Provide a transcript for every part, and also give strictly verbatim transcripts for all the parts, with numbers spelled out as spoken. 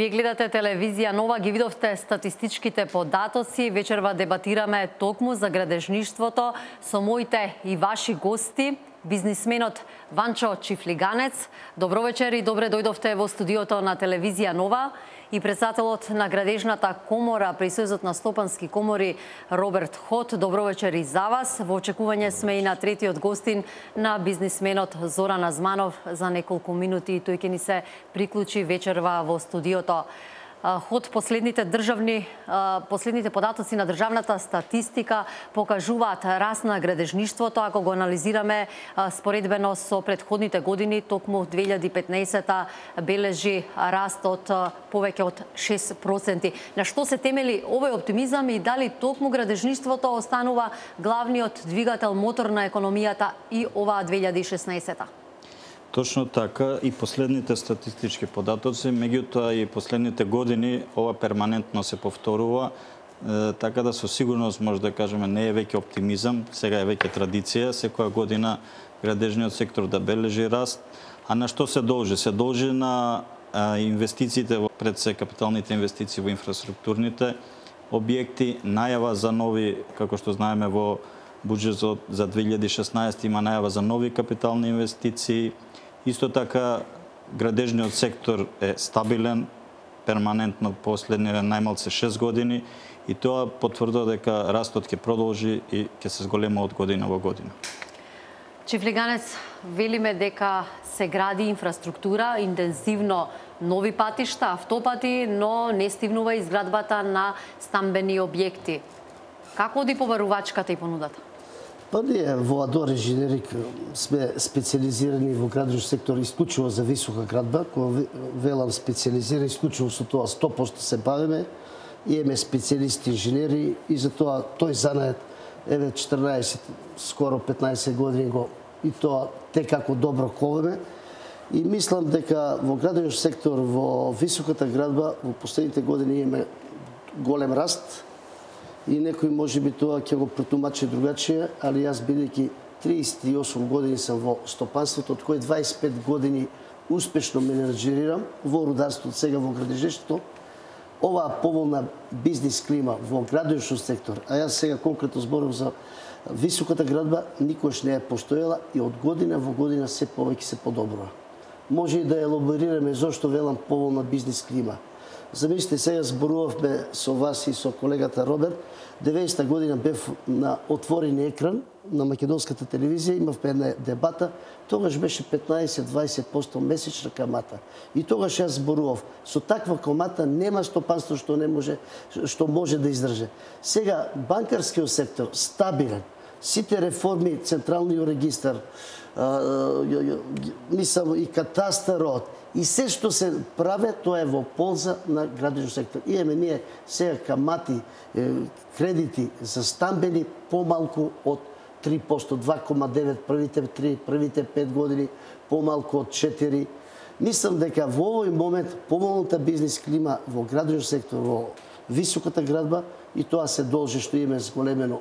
Вие гледате телевизија Нова, ги видовте статистичките податоци. Вечерва дебатираме токму за градежништвото со моите и ваши гости, бизнисменот Ванчо Чифлиганец. Добро вечер и добре дојдовте во студиото на телевизија Нова. И председателот на Градежната комора при Сојузот на стопански комори Роберт Ход. Добро вечер и за вас. Во очекување сме и на третиот гостин на бизнисменот Зоран Азманов. За неколку минути тој ќе ни се приклучи вечерва во студиото. Ход, последните државни последните податоци на државната статистика покажуваат раст на градежништвото. Ако го анализираме споредбено со претходните години, токму две илјади и петнаесета бележи раст од повеќе од шест проценти. На што се темели овој оптимизам и дали токму градежништвото останува главниот двигател, мотор на економијата и оваа две илјади и шеснаесета? Точно така, и последните статистички податоци, меѓутоа и последните години ова перманентно се повторува, е, така да со сигурност може да кажеме не е веќе оптимизам, сега е веќе традиција, секоја година градежниот сектор да бележи раст. А на што се должи? Се должи на а, инвестициите, во, пред се капиталните инвестиции во инфраструктурните објекти, најава за нови, како што знаеме во буџетот за две илјади и шеснаесета има најава за нови капитални инвестиции. Исто така, градежниот сектор е стабилен, перманентно последниве најмалце шест години и тоа потврдува дека растот ќе продолжи и ќе се зголема од година во година. Чифлиганец, велиме дека се гради инфраструктура, интензивно нови патишта, автопати, но не стигнува изградбата на стамбени објекти. Како оди побарувачката и понудата? Па ние во Адор Инженерик сме специализирани во градежен сектор исклучиво за висока градба, кога велам специализирани исклучиво со тоа сто проценти се бавиме, имаме специјалисти инженери и за тоа тој занает еве четрнаесет, скоро петнаесет години го и тоа те како добро колеме. И мислам дека во градежен сектор во високата градба во последните години имаме голем раст. И некој може би тоа ќе го протумачи другачие, али јас бидејќи триесет и осум години сам во стопанството, од кои дваесет и пет години успешно менеджерирам во рударството, сега во градежништвото, оваа поволна бизнис клима во градежен сектор, а јас сега конкретно зборам за високата градба, никош не е постоела и од година во година се повеќе се подобрува. Може и да елаборираме зошто велам поволна бизнис клима. Замислите, сега зборувавме со вас и со колегата Роберт. деветдесета година бев на отворен екран на македонската телевизија, имавме една дебата, тогаш беше петнаесет до дваесет проценти месечна камата. И тогаш јас зборував, со таква камата нема стопанство што не може што може да издржи. Сега банкарскиот сектор стабилен, сите реформи, централниот регистар, мислам и катастарот, и се што се прави, тоа е во полза на градежен сектор. Имаме ние сега камати, кредити за стамбени помалку од три проценти, два кома девет првите три, првите пет години, помалку од четири. Мислам дека во овој момент помалната бизнис клима во градежен сектор, во високата градба, и тоа се должи што имаме зголемено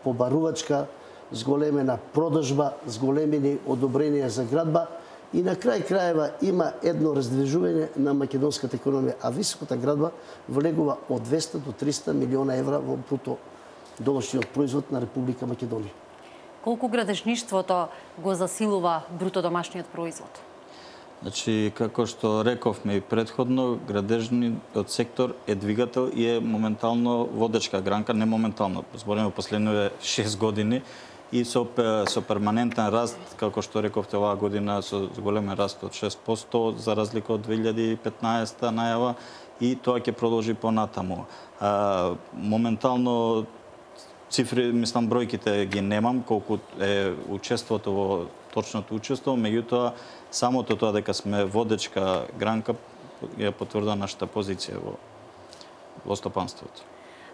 побарувачка, зголемена продажба, зголемени одобренија за градба. И на крај крајева има едно раздвижување на македонската економија, а високата градба влегува од двесте до триста милиона евра во бруто домашниот производ на Република Македонија. Колку градежништвото го засилува бруто домашниот производ? Значи, како што рековме и предходно, градежниот сектор е двигател и е моментално водечка гранка, не моментално, збориме последните шест години, и со, со перманентен раст, како што рековте оваа година, со големен раст од шест проценти, за разлика од две илјади и петнаесета најава, и тоа ќе продолжи понатаму. А, моментално цифри, мислам, бројките ги немам, колку е учеството во точното учество, меѓутоа, самото тоа дека сме водечка гранка ја потврдува нашата позиција во, во стопанството.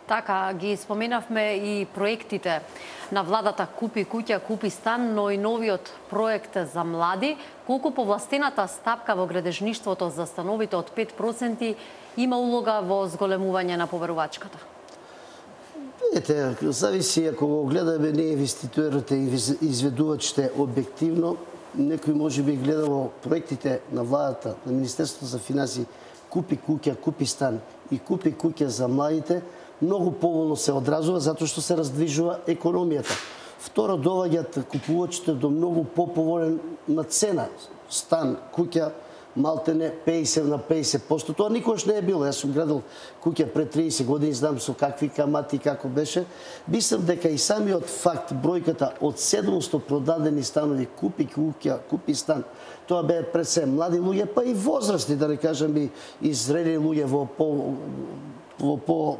Така, ги споменавме и проектите на владата Купи куќа, купи стан, но и новиот проект за млади. Колку повластената стапка во градежништвото за становите од пет проценти има улога во зголемување на поверувачката? Видите, зависи ако го гледаме ние инвеститорите и изведувачите објективно, некој може би гледало проектите на владата, на Министерството за финансии, купи куќа, купи стан и купи куќа за младите, многу поволно се одразува затоа што се раздвижува економијата. Второ, доаѓаат купувачите до многу поповолна цена. Стан, куќа, малтене пеесет на пеесет проценти. Тоа никош не е било. Јас сум градил куќа пред триесет години, знам со какви камати како беше. Мислам дека и самиот факт, бројката од седумстотини продадени станови, купи куќа, купи стан, тоа беа пред се млади луѓе, па и возрастни, да не кажам и, и зрели луѓе во по во по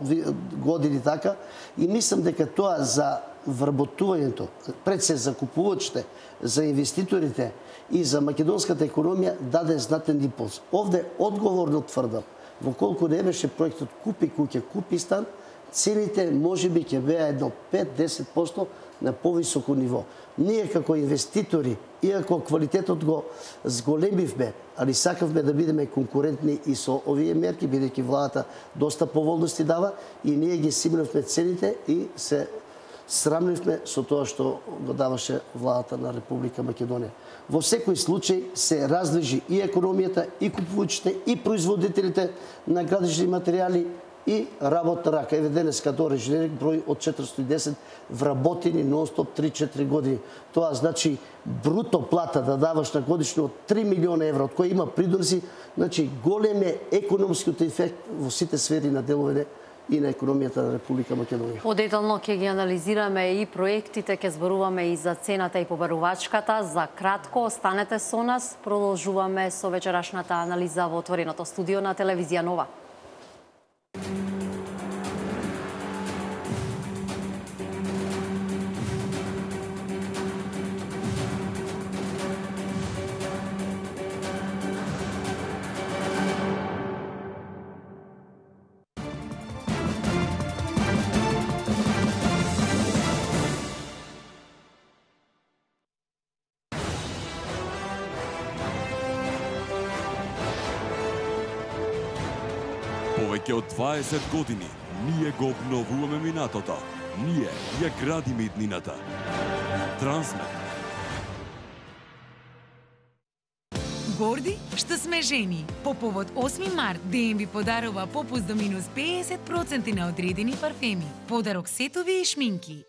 години така. И мислам дека тоа за вработувањето, пред се за купувачите, за инвеститорите и за македонската економија даде знатен импулс. Овде одговорно тврдам, во колку не беше проектот купи куќа, купи стан, цените можеби ќе беа едно пет до десет проценти на повисоко ниво. Ние како инвеститори, иако квалитетот го зголемивме, али сакавме да бидеме конкурентни и со овие мерки, бидејќи владата доста поволности дава, и ние ги симнавме цените и се срамнивме со тоа што го даваше владата на Република Македонија. Во секој случај се раздвижи и економијата, и купувачите, и производителите на градежни материјали, и работна рака. Еве денеска доле инженерик број од четиристотини и десет вработени нон-стоп три-четири години. Тоа значи бруто плата да даваш на годишно од три милиони евра, од кои има придорси, значи голем е економскиот ефект во сите сфери на деловите и на економијата на Република Македонија. Подетално ќе ги анализираме и проектите, ќе зборуваме и за цената и побарувачката. За кратко останете со нас, продолжуваме со вечерашната анализа во отвореното студио на телевизија Нова. Повеќе од дваесет години ние го обновуваме минатото. Ние ја градиме иднината. Трансмет. Горди што сме жени. По повод осми март ДМ подарува попуст до минус пеесет проценти на одредени парфеми. Подарок сетови и шминки.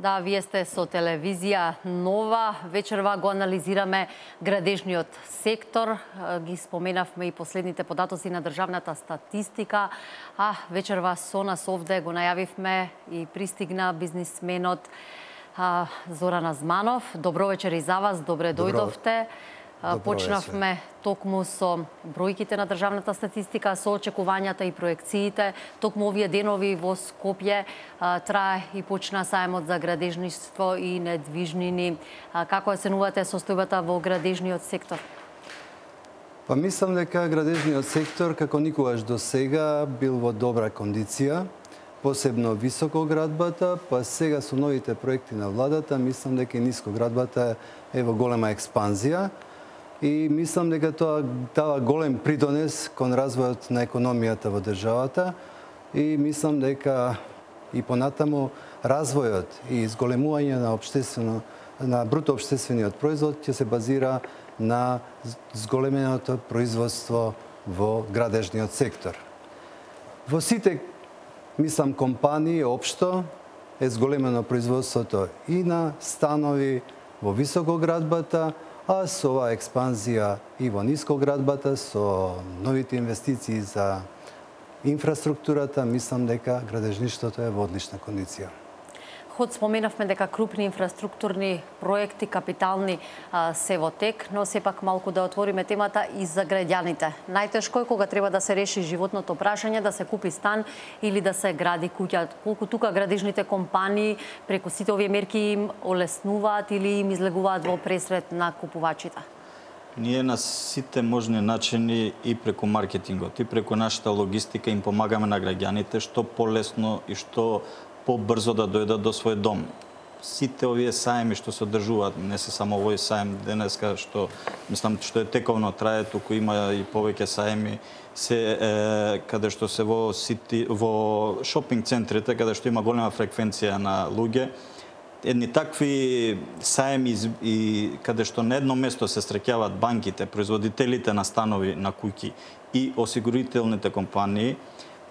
Да, вие сте со телевизија Нова. Вечерва го анализираме градежниот сектор. Ги споменавме и последните податоци на државната статистика. А вечерва со нас овде го најавивме и пристигна бизнисменот а, Зоран Азманов. Добро вечер и за вас, добре Добро. дојдовте. Добро Почнавме вечер. Токму со бројките на државната статистика, со очекувањата и проекциите. Токму овие денови во Скопје а, трае и почна сајмот за градежништво и недвижнини. А, како оценувате состојбата во градежниот сектор? Па мислам дека градежниот сектор како никогаш до сега бил во добра кондиција, посебно високоградбата, па сега со новите проекти на владата мислам дека и нискоградбата е во голема експанзија. И мислам дека тоа дава голем придонес кон развојот на економијата во државата и мислам дека и понатаму развојот и зголемување на општествено на бруто општествениот производ ќе се базира на зголеменото производство во градежниот сектор. Во сите мислам компании општо е зголемено производството и на станови во високоградбата, а со оваа експанзија и во нискоградбата, со новите инвестиции за инфраструктурата, мислам дека градежништвото е во одлична кондиција. Ход споменавме дека крупни инфраструктурни проекти, капитални а, се во тек, но сепак малку да отвориме темата и за граѓаните. Најтешко е кога треба да се реши животното прашање, да се купи стан или да се гради куќа. Колку тука градежните компании преку сите овие мерки им олеснуваат или им излегуваат во пресред на купувачите? Ние на сите можни начини и преку маркетингот, и преку нашата логистика им помагаме на граѓаните што полесно и што побрзо да дојдат до свој дом. Сите овие саеми што се одржуваат, не се само овој саем денеска што мислам што е тековно трае, туку има и повеќе саеми се е, каде што се во сити во шопинг центрите каде што има голема фреквенција на луѓе. Едни такви саеми и каде што на едно место се среќаваат банките, производителите на станови, на куќи и осигурителните компании,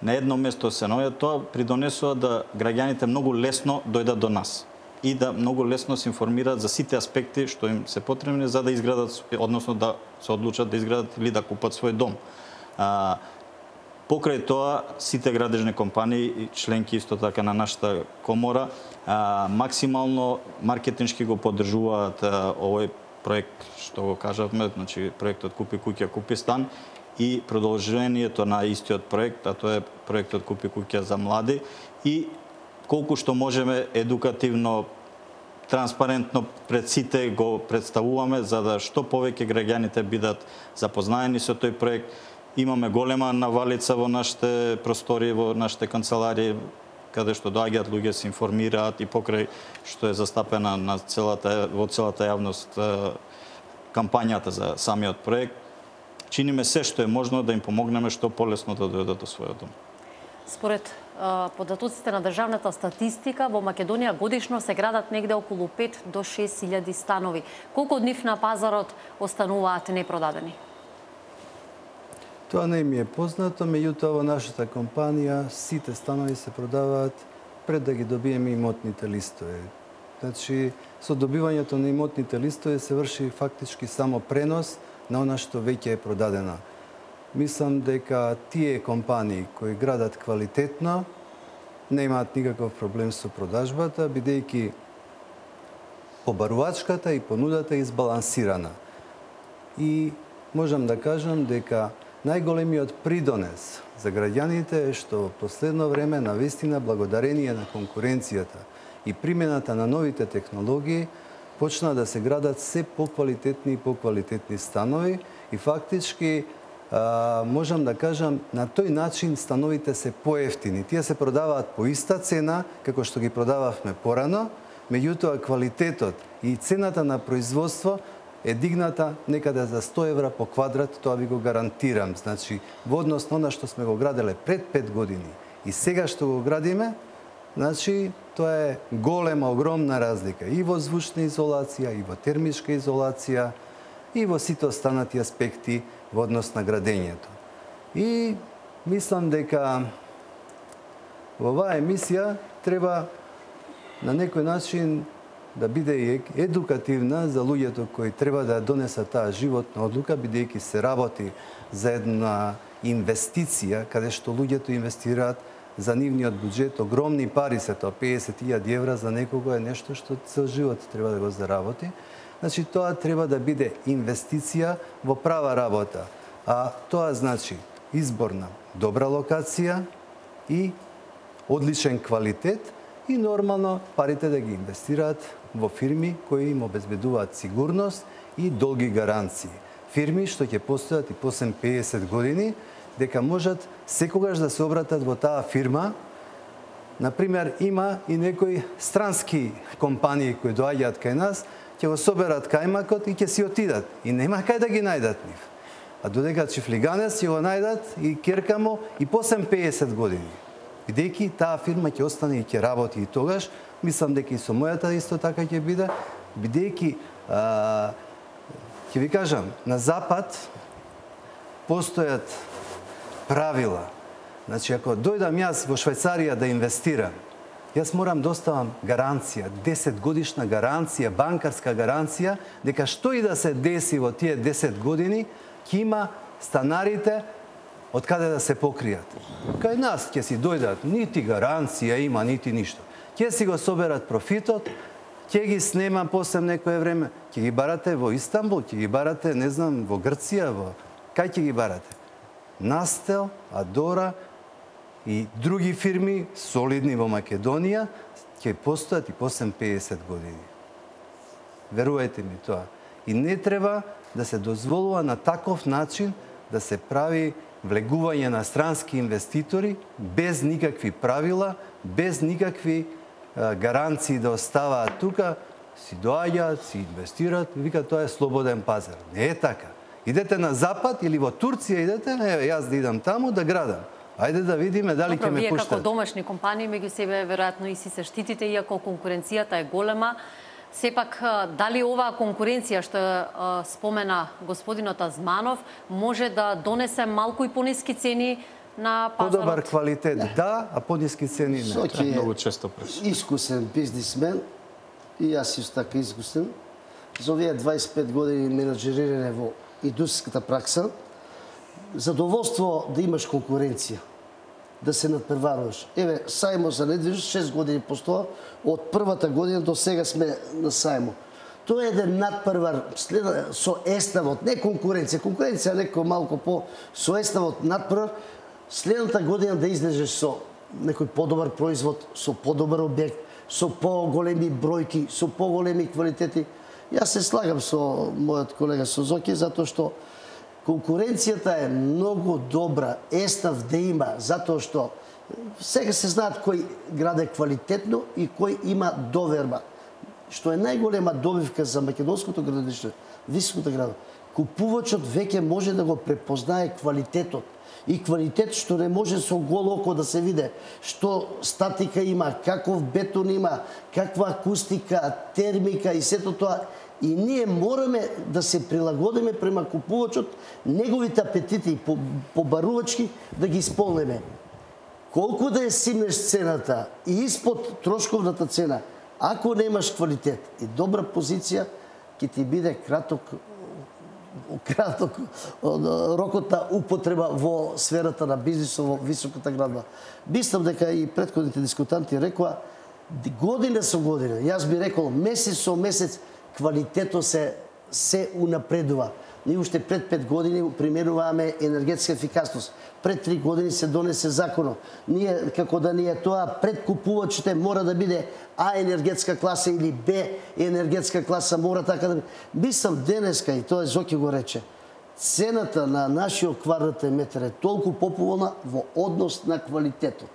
на едно место се наоѓаат, тоа придонесува да граѓаните многу лесно дојдат до нас и да многу лесно се информираат за сите аспекти што им се потребни за да изградат, односно да се одлучат да изградат или да купат свој дом. А, покрај тоа, сите градежни компании, членки исто така на нашата комора, а, максимално маркетиншки го поддржуваат а, овој проект што го кажавме, значи проектот Купи куќа, купи стан и продолжението на истиот проект, а тоа е проектот Купи куќа за млади и колку што можеме едукативно, транспарентно пред сите го представуваме за да што повеќе граѓаните бидат запознаени со тој проект. Имаме голема навалица во нашите простори, во нашите канцеларии, каде што доаѓаат луѓе, се информираат и покрај што е застапена на целата, во целата јавност кампањата за самиот проект. Чиниме се што е можно да им помогнеме што полесно да дојдат до својот дом. Според податоците на државната статистика, во Македонија годишно се градат негде околу пет до шест илјади станови. Колку од нив на пазарот остануваат непродадени? Тоа не ми е познато, меѓутоа во нашата компанија сите станови се продаваат пред да ги добиеме имотните листови. Значи, со добивањето на имотните листови се врши фактички само пренос на она што веќе е продадено. Мислам дека тие компании кои градат квалитетно не имаат никаков проблем со продажбата, бидејќи побарувачката и понудата е избалансирана. И можам да кажам дека најголемиот придонес за граѓаните е што во последно време навистина благодарение на конкуренцијата и примената на новите технологии почна да се градат се поквалитетни и поквалитетни станови и фактички а, можам да кажам на тој начин становите се поевтини. Тие се продаваат по иста цена како што ги продававме порано, меѓутоа квалитетот и цената на производство е дигната некаде за сто евра по квадрат, тоа ви го гарантирам. Значи, во однос на она што сме го граделе пред пет години и сега што го градиме, значи, тоа е голема, огромна разлика и во звучна изолација, и во термичка изолација, и во сите останати аспекти во однос на градењето. И мислам дека во оваа емисија треба на некој начин да биде и едукативна за луѓето кои треба да донесат таа животна одлука, бидејќи се работи за една инвестиција, каде што луѓето инвестираат за нивниот буџет, огромни пари се тоа, педесет илјади евра за некого е нешто што цел живот треба да го заработи. Значи, тоа треба да биде инвестиција во права работа. А тоа значи избор на добра локација и одличен квалитет и нормално парите да ги инвестираат во фирми кои им обезбедуваат сигурност и долги гаранции. Фирми што ќе постојат и после педесет години, дека можат секогаш да се обратат во таа фирма. Например, има и некои странски компании кои доаѓаат кај нас, ќе го соберат кајмакот и ќе си отидат. И нема кај да ги најдат нив. А додека чифлиганец ќе го најдат и керкамо и после педесет години. Бидејќи таа фирма ќе остане и ќе работи и тогаш, мислам дека и со мојата исто така ќе биде, бидејќи ќе ви кажам, на запад постојат правила. Значи, ако дојдам јас во Швајцарија да инвестирам, јас морам да оставам гаранција, десет годишна гаранција, банкарска гаранција, дека што и да се деси во тие десет години, ќе има станарите од каде да се покријат. Кај нас ќе си дојдат, нити гаранција има, нити ништо. Ќе си го соберат профитот, ќе ги снема после некое време, ќе ги барате во Истанбул, ќе ги барате, не знам, во Грција, во... кај ќе ги барате? Настел, Адора и други фирми солидни во Македонија ќе постојат и после педесет години. Верувајте ми тоа. И не треба да се дозволува на таков начин да се прави влегување на странски инвеститори без никакви правила, без никакви а, гаранции да оставаат тука, си доаѓаат, си инвестираат, вика тоа е слободен пазар. Не е така. Идете на Запад или во Турција идете, еве јас да идам таму да градам. Ајде да видиме дали ќе ме пуштат. Вие како пуштат. домашни компании меѓу себе веројатно и си се штитите, иако конкуренцијата е голема. Сепак, дали оваа конкуренција што е, спомена господинот Азманов може да донесе малку и пониски цени на пазарот? Подобар квалитет, да, а пониски цени не. Соки е Многу често преш. искусен бизнисмен и јас исто така искусен. За овие дваесет и пет години менаџерирање во индустријската пракса, задоволство да имаш конкуренција, да се надпреваруваш. Еве, сајмо за недвижност шест години постоа, од првата година до сега сме на сајмо. Тоа е еден надпревар со еставот, не конкуренција. Конкуренција некој малку по со еставот надпревар, следната година да излезеш со некој подобар производ, со подобар објект, со поголеми бројки, со поголеми квалитети. Јас се слагам со мојот колега Созоки, затоа што конкуренцијата е многу добра, естав да има, затоа што сега се знаат кој граде квалитетно и кој има доверба. Што е најголема добивка за македонското градиште, високото градо. Купувачот веќе може да го препознае квалитетот. И квалитет што не може со голо око да се виде, што статика има, каков бетон има, каква акустика, термика и сето тоа. И ние мораме да се прилагодиме према купувачот, неговите апетити побарувачки да ги исполнеме. Колку да е симнеш цената и испод трошковната цена, ако немаш квалитет и добра позиција, ќе ти биде краток краток рокот на употреба во сферата на бизнисот во високата градба. Мислам дека и претходните дискутанти рекоа година со година, јас би рекол месец со месец квалитетот се се унапредува. Ние уште пред пет години применуваме енергетска ефикасност. Пред три години се донесе законот. Ние, како да ни е тоа, пред купувачите мора да биде А енергетска класа или Б енергетска класа, мора така да биде. Мислам денеска, и тоа Зоки го рече, цената на нашиот квадратен метар е толку поповолна во однос на квалитетот.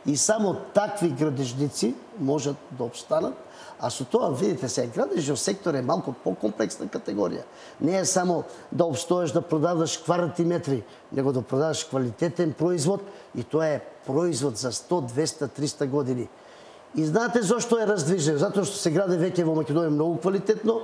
И само такви градежници можат да обстанат. А со тоа, видите се, градежниот сектор е малку по-комплексна категорија. Не е само да обстоеш да продаваш квадратни метри, него да продаваш квалитетен производ и тоа е производ за сто, двеста, триста години. И знаете зошто е раздвижен? Затоа што се граде веќе во Македонија многу квалитетно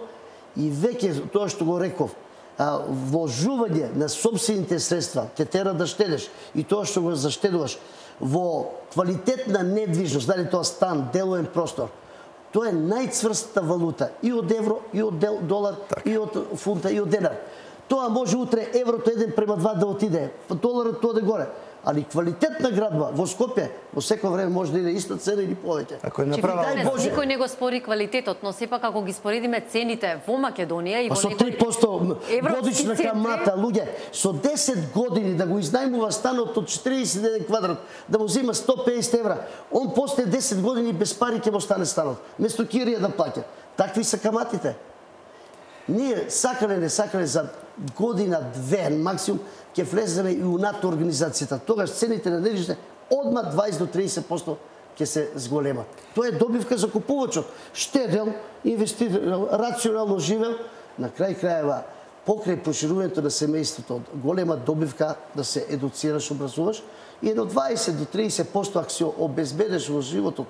и веќе тоа што го реков, а, вложување на собствените средства те тера да штедеш и тоа што го заштедуваш во квалитетна недвижност, дали тоа стан, делоен простор, тоа е најцврстата валута и од евро, и од долар, так. И од фунта, и од денар. Тоа може утре еврото еден према два да отиде, доларот тоа да горе. Али квалитетна градба во Скопје во секој време може да иде иста цена или повеќе. Ако е направа, никој не го спори квалитетот, но сепак ако ги споредиме цените во Македонија и во со три проценти годишна камата, луѓе, со десет години да го изнајмува станот од четириесет еден квадрат, да му зима сто песет евра, он после десет години без пари ќе му стане станот, место кирија да плаќа. Такви се каматите. Ние сакале не сакале за година, две, максимум, ќе влеземе и у НАТО организацијата. Тогаш цените на недвижните одма дваесет до триесет проценти ќе се зголемат. Тоа е добивка за купувачот. Штедел, инвестирал, рационално живел, на крај крајева, покрај проширувањето на семејството, голема добивка да се едуцираш, образуваш и едно дваесет до триесет проценти ако си обезбедеш во животот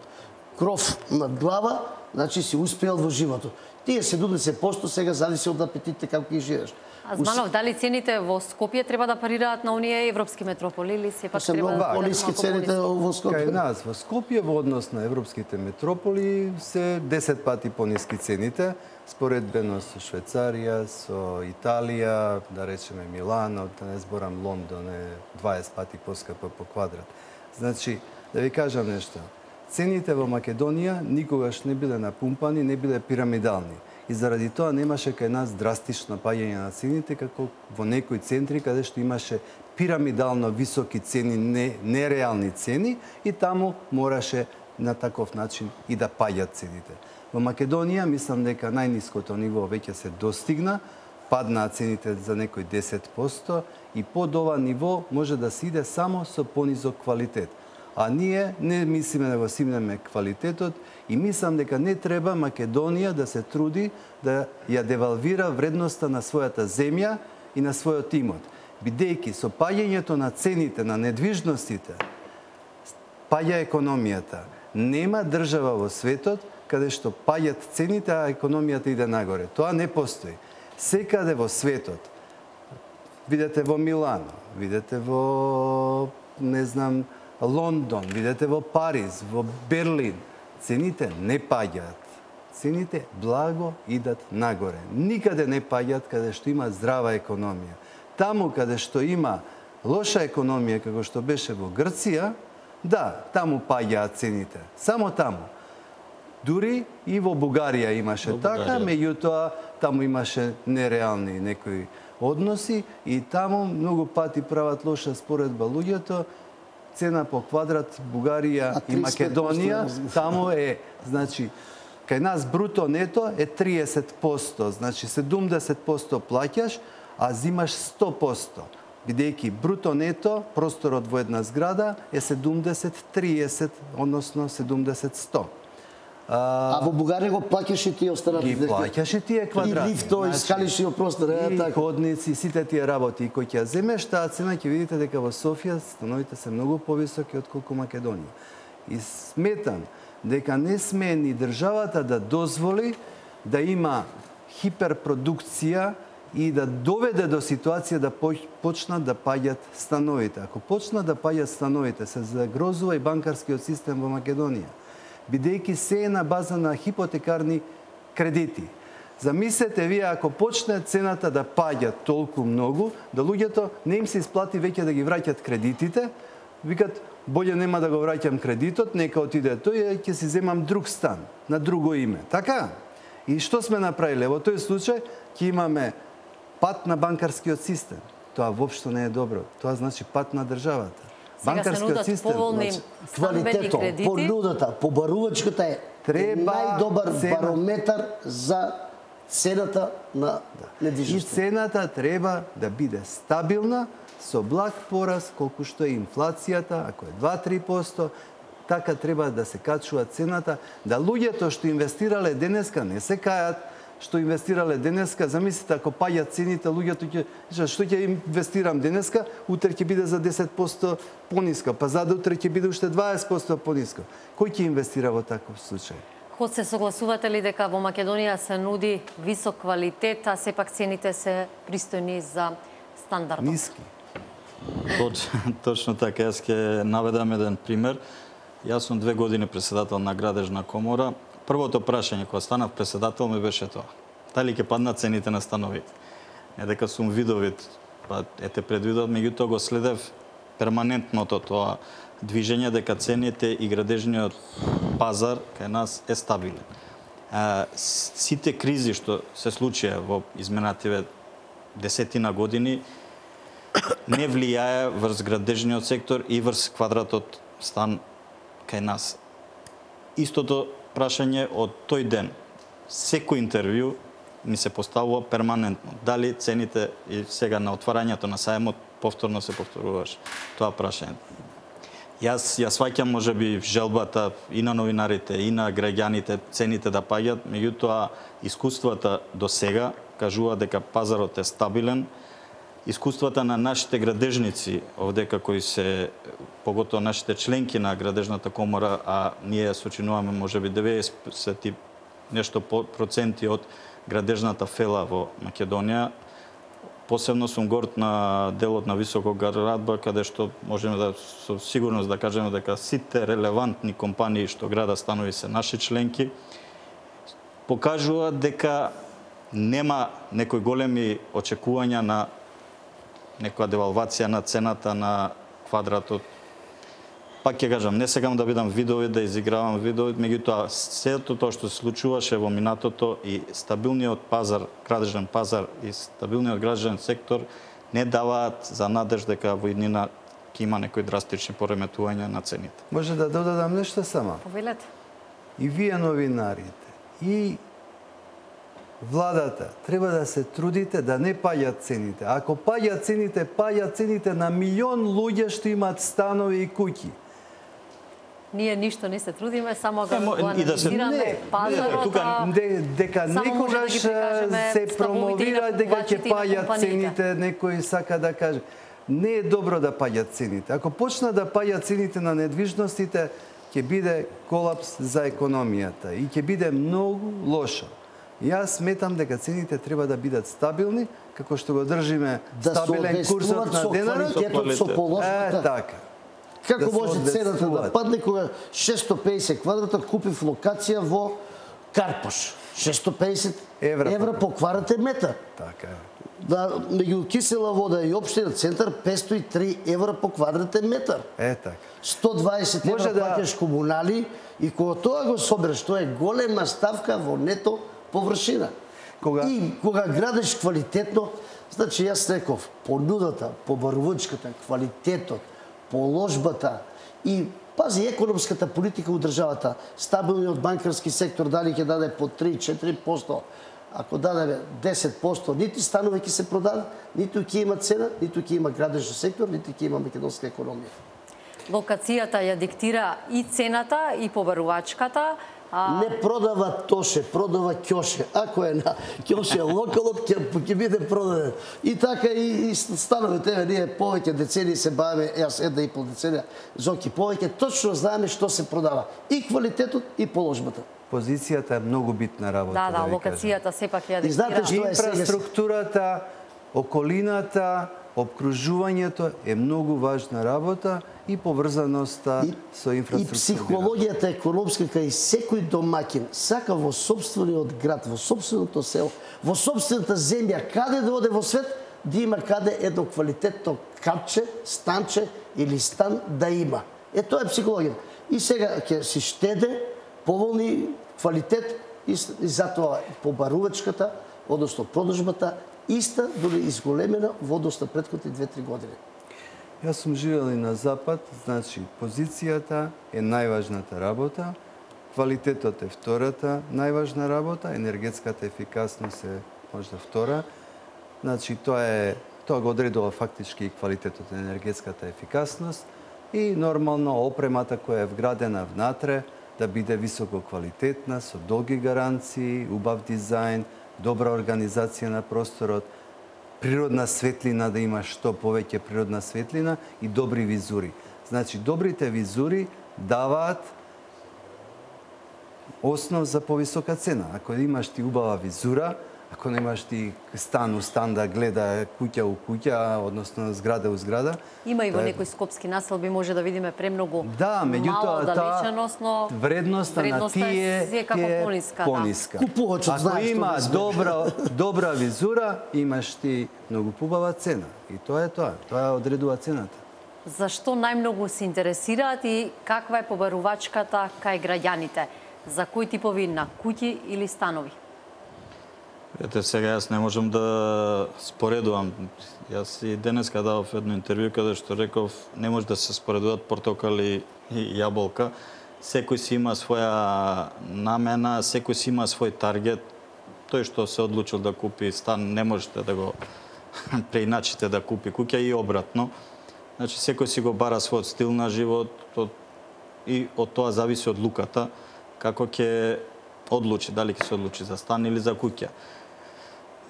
кров над глава, значи си успеал во животот. Тие седумдесет проценти сега зависи од апетитите како ги живееш. Азманов, дали цените во Скопје треба да парираат на оние европски метрополи или сепак се треба да пониски цените во Скопје? Кај нас во Скопје во однос на европските метрополи се десет пати пониски цените, споредбено со Швајцарија, со Италија, да речеме Милано, да не зборам Лондон е дваесет пати поскапо по квадрат. Значи, да ви кажам нешто. Цените во Македонија никогаш не биле напумпани, не биле пирамидални. И заради тоа немаше кај нас драстично паѓање на цените, како во некои центри каде што имаше пирамидално високи цени, не, нереални цени, и таму мораше на таков начин и да паѓат цените. Во Македонија мислам дека најниското ниво веќе се достигна, паднаа цените за некој десет проценти и под ова ниво може да се иде само со понизок квалитет. А ние не мислиме да го симнеме квалитетот и мислам дека не треба Македонија да се труди да ја девалвира вредноста на својата земја и на својот имот. Бидејќи со паѓањето на цените на недвижностите, паѓа економијата. Нема држава во светот каде што паѓат цените, а економијата иде нагоре. Тоа не постои. Секаде во светот, видете во Милано, видете во, не знам, Лондон, видете во Париз, во Берлин, цените не паѓаат. Цените благо идат нагоре. Никаде не паѓаат каде што има здрава економија. Таму каде што има лоша економија, како што беше во Грција, да, таму паѓаат цените. Само таму. Дури и во Бугарија имаше така, меѓутоа таму имаше нереални некои односи и таму многу пати прават лоша споредба луѓето. Цена по квадрат Бугарија и Македонија, таму е, значи, кај нас бруто нето е триесет проценти, значи седумдесет проценти плаќаш, а зимаш сто проценти. Бидејќи бруто нето, просторот во една зграда е седумдесет триесет, односно седумдесет сто. А, а во Бугарија го плаќаш и тие останати? Ги плаќаш и тие квадрати. И лифто, и скалиши во простор, е и така. ходници, сите тие работи. И кој ќе ја земеш таа цена, ќе видите дека во Софија становите се многу повисоки отколку Македонија. И сметам дека не сме ни државата да дозволи да има хиперпродукција и да доведе до ситуација да почнат да паѓат становите. Ако почнат да паѓат становите, се загрозува и банкарскиот систем во Македонија, бидејќи се е на база на хипотекарни кредити. Замислете вие, ако почне цената да паѓа толку многу, да луѓето не им се исплати веќе да ги враќат кредитите, викат, боле нема да го враќам кредитот, нека отиде тој, ќе си земам друг стан, на друго име. Така? И што сме направиле? Во тој случај ќе имаме пат на банкарскиот систем. Тоа воопшто не е добро. Тоа значи пат на државата. Сега се нудат поволни стамбени кредити. Понудата, побарувачката е треба најдобар цена... барометар за цената на недвижност. И цената треба да биде стабилна, со благ пораз, колку што е инфлацијата, ако е два до три проценти, така треба да се качува цената, да луѓето што инвестирале денеска не се кајат, што инвестирале денеска, замислите ако паѓат цените, луѓето ќе што ќе инвестирам денеска, утре ќе биде за десет проценти пониска, па за утре ќе биде уште дваесет проценти пониска. Кој ќе инвестира во таков случај? Хосе, согласувате ли дека во Македонија се нуди висок квалитет, а сепак цените се пристојни за стандардот? Ниски. Точ, точно така, јас ќе наведам еден пример. Јас сум две години председател на Градежна комора. Првото прашање кога станав председател ми беше тоа. Дали ќе паднат цените на становите? Не дека сум видовит, па ете предвидов, меѓутоа го следев перманентното тоа движење дека цените и градежниот пазар кај нас е стабилен. А, сите кризи што се случија во изминативе десетина години не влијае врз градежниот сектор и врз квадратот стан кај нас. Истото прашање од тој ден. Секој интервју ми се поставува перманентно. Дали цените и сега на отварањето на сајмот повторно се повторуваш тоа прашање. Јас ја сваќам можеби желбата и на новинарите, и на граѓаните цените да паѓат, меѓутоа искуствата до сега кажува дека пазарот е стабилен. Искуствата на нашите градежници, овдека кои се, поготоа нашите членки на Градежната комора, а ние сочинуваме можеби деветдесет и нешто проценти од градежната фела во Македонија. Посебно сум горд на делот на високоградба, каде што можеме да со сигурност да кажеме дека сите релевантни компании што града станови се наши членки, покажуваат дека нема некои големи очекувања на некоја девалвација на цената на квадратот. Пак ќе кажам, не сегам да бидам видови, да изигравам видови, меѓутоа сето тоа што се случуваше во минатото и стабилниот пазар, градежен пазар и стабилниот градежен сектор не даваат за надеж дека во иднина ќе има некои драстични пореметувања на цените. Може да додадам нешто сама? Повелете. И вие новинарите, и владата треба да се трудите да не паѓат цените. Ако паѓат цените, паѓат цените на милион луѓе што имаат станови и куќи. Ние ништо не се трудиме, само го Емо, и да се- анализираме Не, пазарот. тука а Де, дека само може да некогаш ги прикажеме се ставовите и промовира на дека ќе купувачите и на паѓат компаниите. цените, некој сака да каже. Не е добро да паѓат цените. Ако почна да паѓат цените на недвижностите, ќе биде колапс за економијата и ќе биде многу лошо. Јас сметам дека цените треба да бидат стабилни, како што го држиме Да се стабилен курсот одвестуваат на со денарот. квалитетот, со Е, положбата. така. Како да се може цената да одвестуваат. падне кога шестстотини и педесет квадрата купив локација во Карпош? шестстотини и педесет Евра евра по- по квадратен метар. Така е. Да, меѓу кисела вода и општина центар петстотини и три евра по квадратен метар. Е така. сто дваесет евра Може да- плаќаш комунали и кога тоа го собереш, тоа е голема ставка во нето површина. Кога- И кога градиш квалитетно, значи јас реков, понудата, побарувачката, квалитетот, положбата и пази економската политика у државата, стабилниот банкарски сектор дали ќе даде по три до четири проценти, ако даде десет проценти, нити станови ќе се продадат, ниту ќе има цена, ниту ќе има градежен сектор, ниту ќе има македонска економија. Локацијата ја диктира и цената и побарувачката. А, Не продава тоше, продава ќоше. Ако е на ќоше локалот, ќе, ќе биде продаден. И така и, и становите, еве, ние повеќе децении се бавиме, јас една и пол деценија, Зоки, повеќе точно знаеме што се продава. И квалитетот, и положбата. Позицијата е многу битна работа. да, да, ви кажам. локацијата сепак ја И знаете диктира. што е сега? Инфраструктурата, околината, обкружувањето е многу важна работа и поврзаноста И, со и инфраструктура. психологијата економска кај секој домаќин сака во собствениот град, во собственото село, во собствената земја, каде да оде во свет, да има каде едно квалитетно капче, станче или стан да има. Е, тоа е психологија. И сега ќе си штеде, поволни квалитет и, с- и затоа побарувачката, односно продажбата, иста, дури изголемена во однос на претходните две-три години. Јас сум живел и на Запад, значи позицијата е најважната работа, квалитетот е втората најважна работа, енергетската ефикасност е можда втора. Значи тоа е тоа го одредува фактички и квалитетот на енергетската ефикасност и нормално опремата која е вградена внатре да биде високо квалитетна, со долги гаранции, убав дизајн, добра организација на просторот, природна светлина, да има што повеќе природна светлина и добри визури. Значи, добрите визури даваат основ за повисока цена. Ако имаш ти убава визура, ако немаш ти стан у стан да гледа куќа у куќа, односно зграда у зграда. Има и во тоа е- некои скопски населби може да видиме премногу Да, мала меѓутоа оддалеченост, но вредноста на вредноста е тие секако е пониска, да. пониска. Купувачот Ако знае што има да сме. добра добра визура, имаш ти многу побава цена. И тоа е тоа. Тоа одредува цената. Зашто најмногу се интересираат и каква е побарувачката кај граѓаните? За кои типови на куќи или станови? Ете, сега јас не можам да споредувам. Јас и денеска давав едно интервју каде што реков не може да се споредуваат портокали и јаболка. Секој си има своја намена, секој си има свој таргет. Тој што се одлучил да купи стан, не можете да го преиначите да купи куќа и обратно. Значи, секој си го бара својот стил на живот од, и од тоа зависи од луката како ќе одлучи, дали ќе се одлучи за стан или за куќа.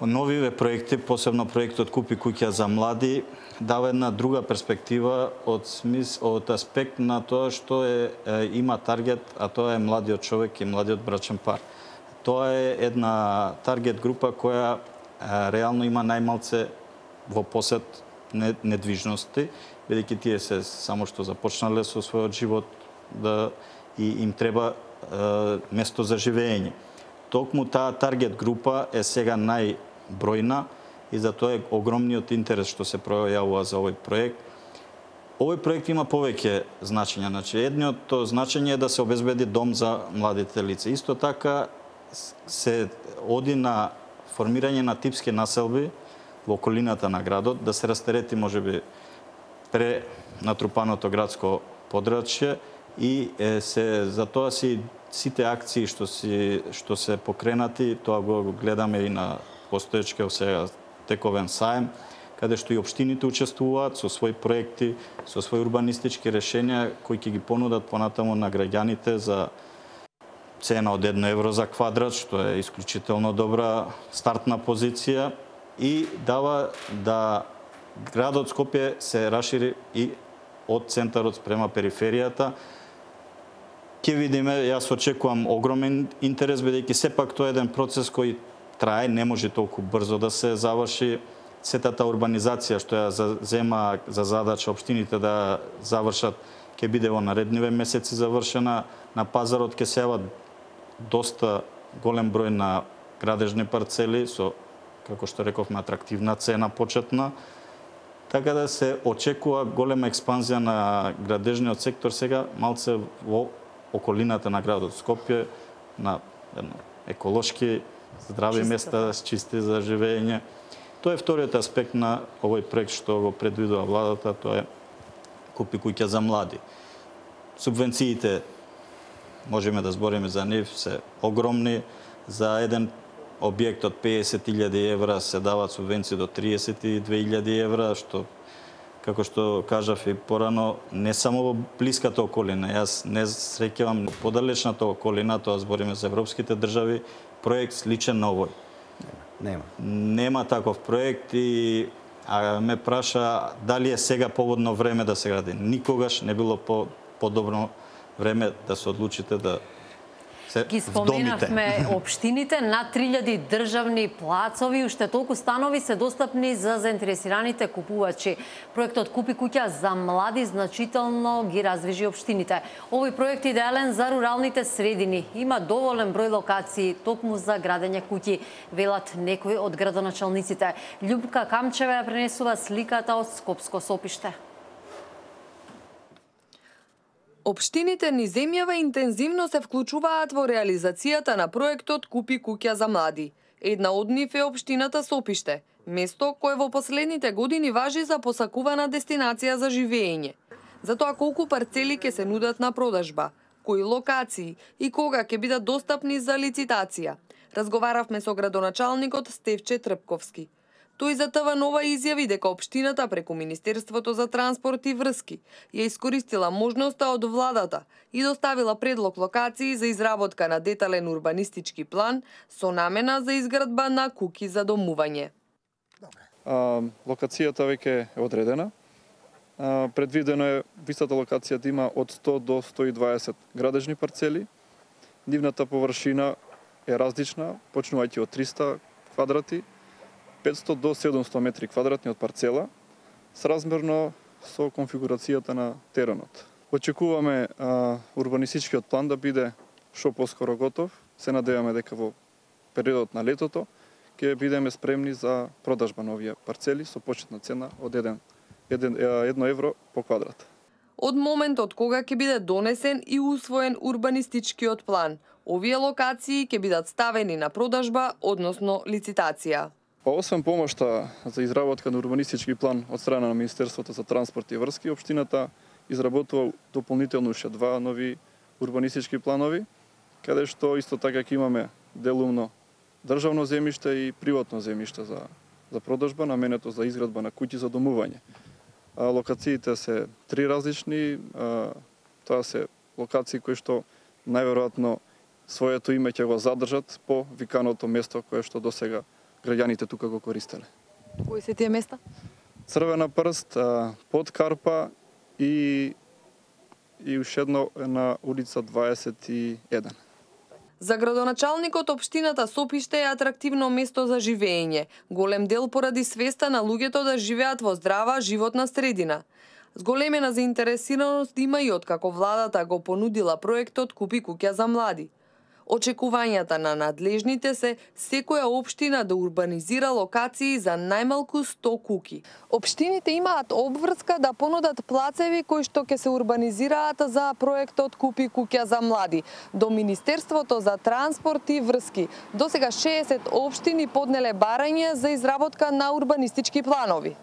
Новиве проекти, посебно проектот Купи куќа за млади, дава една друга перспектива од смис, од аспект на тоа што е, е има таргет, а тоа е младиот човек и младиот брачен пар. Тоа е една таргет група која е, реално има најмалце во посет недвижности, бидејќи тие се само што започнале со својот живот да и им треба е, место за живење. Токму таа таргет група е сега најбројна и затоа е огромниот интерес што се пројавува за овој проект. Овој проект има повеќе значења. Значи, едното значење е да се обезбеди дом за младите лица. Исто така се оди на формирање на типски населби во околината на градот, да се растерети можеби пренатрупаното градско подрачје и е, се за тоа се сите акции што си што се покренати, тоа го гледаме и на постоечкиот сега тековен саем, каде што и општините учествуваат со своји проекти, со своји урбанистички решенија кои ќе ги понудат понатаму на граѓаните за цена од едно евро за квадрат, што е исклучително добра стартна позиција и дава да градот Скопје се расшири и од центарот спрема периферијата. Ќе видиме, јас очекувам огромен интерес, бидејќи сепак тоа е еден процес кој трае, не може толку брзо да се заврши. Сетата урбанизација што ја зема за задача општините да завршат, ќе биде во наредниве месеци завршена. На пазарот ќе се јават доста голем број на градежни парцели со, како што рековме, атрактивна цена почетна. Така да се очекува голема експанзија на градежниот сектор сега малце во околината на градот Скопје, на едно еколошки здрави чисти места, чисти за живење. Тоа е вториот аспект на овој проект што го предвидува владата, тоа е Купи куќа за млади. Субвенциите, можеме да збориме за нив, се огромни. За еден објект од песет илјади евра се даваат субвенции до триесет и две илјади евра, што, како што кажав и порано, не само во блиската околина. Јас не среќавам подалечната околина, тоа збориме за европските држави, проект сличен на овој. Нема. Нема таков проект и а, ме праша дали е сега поводно време да се гради. Никогаш не било по подобро време да се одлучите да се Ги споменавме општините, над три илјади државни плацови, уште толку станови се достапни за заинтересираните купувачи. Проектот Купи куќа за млади значително ги раздвижи општините. Овој проект е идеален за руралните средини. Има доволен број локации токму за градење куќи, велат некои од градоначалниците. Љупка Камчева ја пренесува сликата од Скопско Сопиште. Општините низ земјава интензивно се вклучуваат во реализацијата на проектот Купи куќа за млади. Една од нив е општината Сопиште, место кое во последните години важи за посакувана дестинација за живење. За тоа колку парцели ќе се нудат на продажба, кои локации и кога ќе бидат достапни за лицитација. Разговаравме со градоначалникот Стевче Трпковски. Тој за ТВ Нова изјави дека општината преку Министерството за транспорт и врски ја искористила можноста од владата и доставила предлог локации за изработка на детален урбанистички план со намена за изградба на куќи за домување. А, локацијата веќе е одредена. А, предвидено е висата локација да има од сто до сто и дваесет градежни парцели. Нивната површина е различна, почнувајќи од триста квадрати, петсто до седумсто метри квадратни од парцела, сразмерно со конфигурацијата на теренот. Очекуваме а, урбанистичкиот план да биде што поскоро готов. Се надеваме дека во периодот на летото ќе бидеме спремни за продажба на овие парцели со почетна цена од едно евро по квадрат. Од моментот кога ќе биде донесен и усвоен урбанистичкиот план, овие локации ќе бидат ставени на продажба, односно лицитација. Па освен помошта за изработка на урбанистички план од страна на Министерството за транспорт и врски, општината изработува дополнително уште два нови урбанистички планови, каде што исто така ќе имаме делумно државно земјиште и приватно земјиште за за продажба, наменето за изградба на куќи за домување. А, локациите се три различни, а, тоа се локации кои што најверојатно своето име ќе го задржат по виканото место кое што досега граѓаните тука го користеле. Кои се тие места? Црвена прст, под Карпа и и уште едно на улица дваесет и еден. За градоначалникот општината Сопиште е атрактивно место за живење, голем дел поради свеста на луѓето да живеат во здрава животна средина. Зголемена заинтересираност има и откако владата го понудила проектот Купи куќа за млади. Очекувањата на надлежните се секоја општина да урбанизира локации за најмалку сто куќи. Општините имаат обврска да понудат плацеви кои што ќе се урбанизираат за проектот Купи куќа за млади. До Министерството за транспорт и врски досега шеесет општини поднеле барање за изработка на урбанистички планови.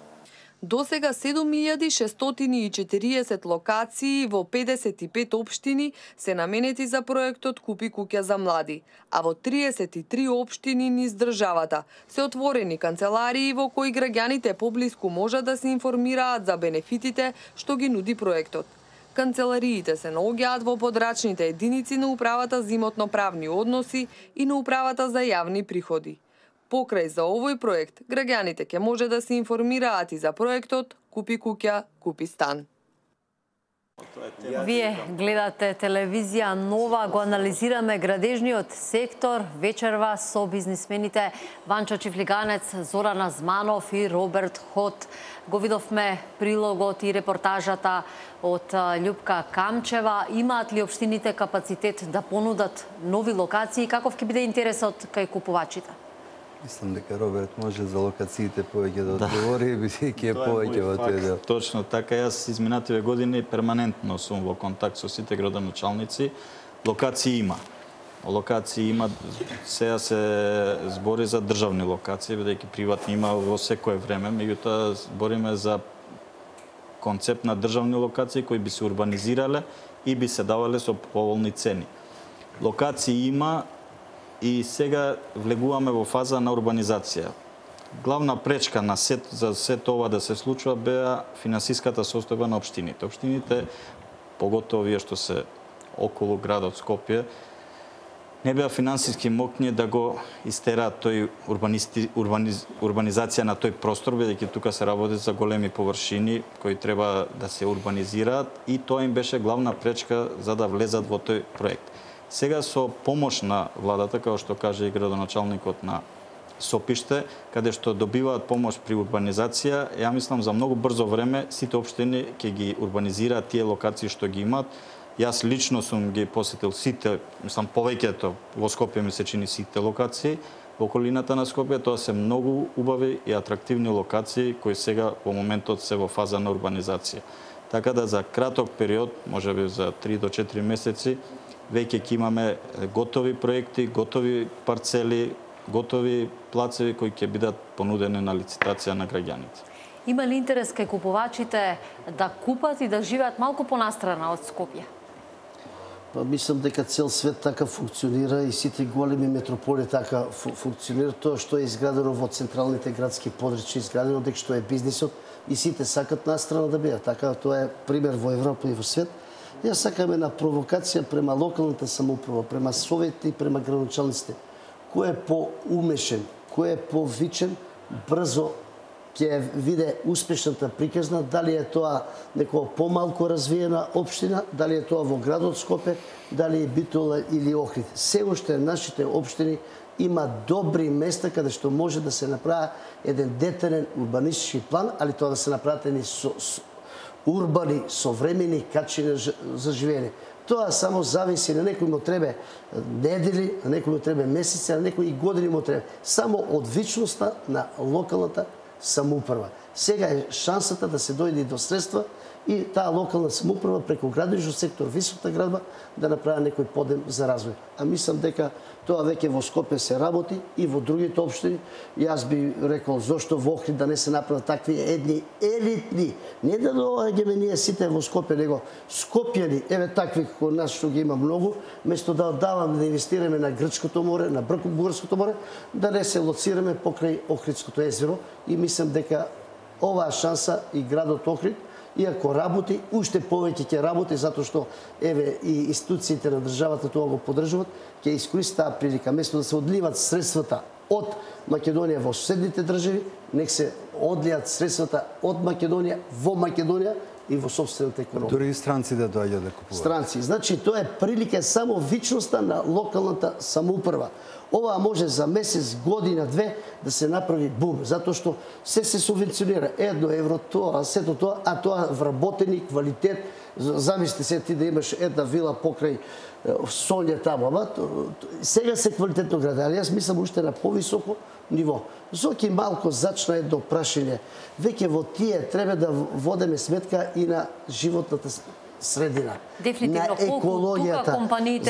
Досега седум илјади шестстотини и четириесет локации во педесет и пет општини се наменети за проектот Купи куќа за млади, а во триесет и три општини низ државата се отворени канцеларии во кои граѓаните поблиску можат да се информираат за бенефитите што ги нуди проектот. Канцелариите се наоѓаат во подрачните единици на Управата за имотно-правни односи и на Управата за јавни приходи. Покрај за овој проект, граѓаните ќе може да се информираат и за проектот Купи куќа, купи стан. Вие гледате телевизија Нова, го анализираме градежниот сектор вечерва со бизнисмените Ванчо Чифлиганец, Зоран Азманов и Роберт Хот. Го видовме прилогот и репортажата од Љупка Камчева. Имаат ли општините капацитет да понудат нови локации? Каков ќе биде интересот кај купувачите? Мислам дека Роберт може за локациите повеќе да одговори, бидејќи е повеќе во тој дел. Точно така, јас изминативе години перманентно сум во контакт со сите градоначалници. Локации има. Локации има, сега се збори за државни локации, бидејќи приватни има во секое време, меѓутоа збориме за концепт на државни локации кои би се урбанизирале и би се давале со поволни цени. Локации има, и сега влегуваме во фаза на урбанизација. Главна пречка на сет, за сето ова да се случува беа финансиската состојба на општините. Општините, поготово овие што се околу градот Скопје, не беа финансиски мокни да го истераат тој урбанисти, урбаниз, урбанизација на тој простор, бидејќи тука се работи за големи површини кои треба да се урбанизираат и тоа им беше главна пречка за да влезат во тој проект. Сега со помош на владата, како што каже и градоначалникот на Сопиште, каде што добиваат помош при урбанизација, ја мислам за многу брзо време сите општини ќе ги урбанизираат тие локации што ги имаат. Јас лично сум ги посетил сите, мислам повеќето во Скопје ми се чини сите локации во околината на Скопје, тоа се многу убави и атрактивни локации кои сега во моментот се во фаза на урбанизација. Така да за краток период, можеби за три до четири месеци, веќе ќе имаме готови проекти, готови парцели, готови плацеви кои ќе бидат понудени на лицитација на граѓаните. Има ли интерес кај купувачите да купат и да живеат малку понастрана од Скопје? Па мислам дека цел свет така функционира и сите големи метрополи така функционира. Тоа што е изградено во централните градски подрачја, изградено дека што е бизнисот и сите сакат настрана да бидат. Така тоа е пример во Европа и во свет. Јас сакам една провокација према локалната самоуправа, према советите и према градоначалниците. Кој е поумешен, кој е повичен, брзо ќе виде успешната приказна, дали е тоа некоја помалку развиена општина, дали е тоа во градот Скопје, дали е Битола или Охрид. Се уште нашите општини има добри места каде што може да се направи еден детален урбанистички план, али тоа да се направат едни со, со, урбани, современи качини за живење. Тоа само зависи, на некој му требе недели, на некој му требе месеци, на некој и години му требе. Само од вичноста на локалната самоуправа. Сега е шансата да се дојде до средства и таа локална самоуправа преку градежниот сектор, високата градба, да направи некој подем за развој. А мислам дека тоа веќе во Скопје се работи и во другите општини. Јас би рекол зошто во Охрид да не се направат такви едни елитни, не да доаѓаме ние сите во Скопје, него скопјани, еве такви како нас што ги има многу, место да даваме да инвестираме на Грчкото море, на Бугарското море, да не се лоцираме покрај Охридското езеро и мислам дека оваа шанса и градот Охрид, иако работи, уште повеќе ќе работи, затоа што еве и институциите на државата тоа го поддржуваат, ќе искористи таа прилика, место да се одливат средствата од Македонија во соседните држави, нек се одлијат средствата од Македонија во Македонија и во собствената економија. Дури и странци да доаѓаат да купуваат. Странци, значи тоа е прилика само вичноста на локалната самоуправа. Ова може за месец, година, две да се направи бум, затоа што се се субвенционира едно евро тоа, сето тоа, а тоа вработени квалитет. Замисли се ти да имаш една вила покрај Сонја таму, ама сега се квалитетно граде, али јас мислам уште на повисоко ниво. Зоки малку зачна едно прашање. Веќе во тие треба да водеме сметка и на животната средина, на екологијата.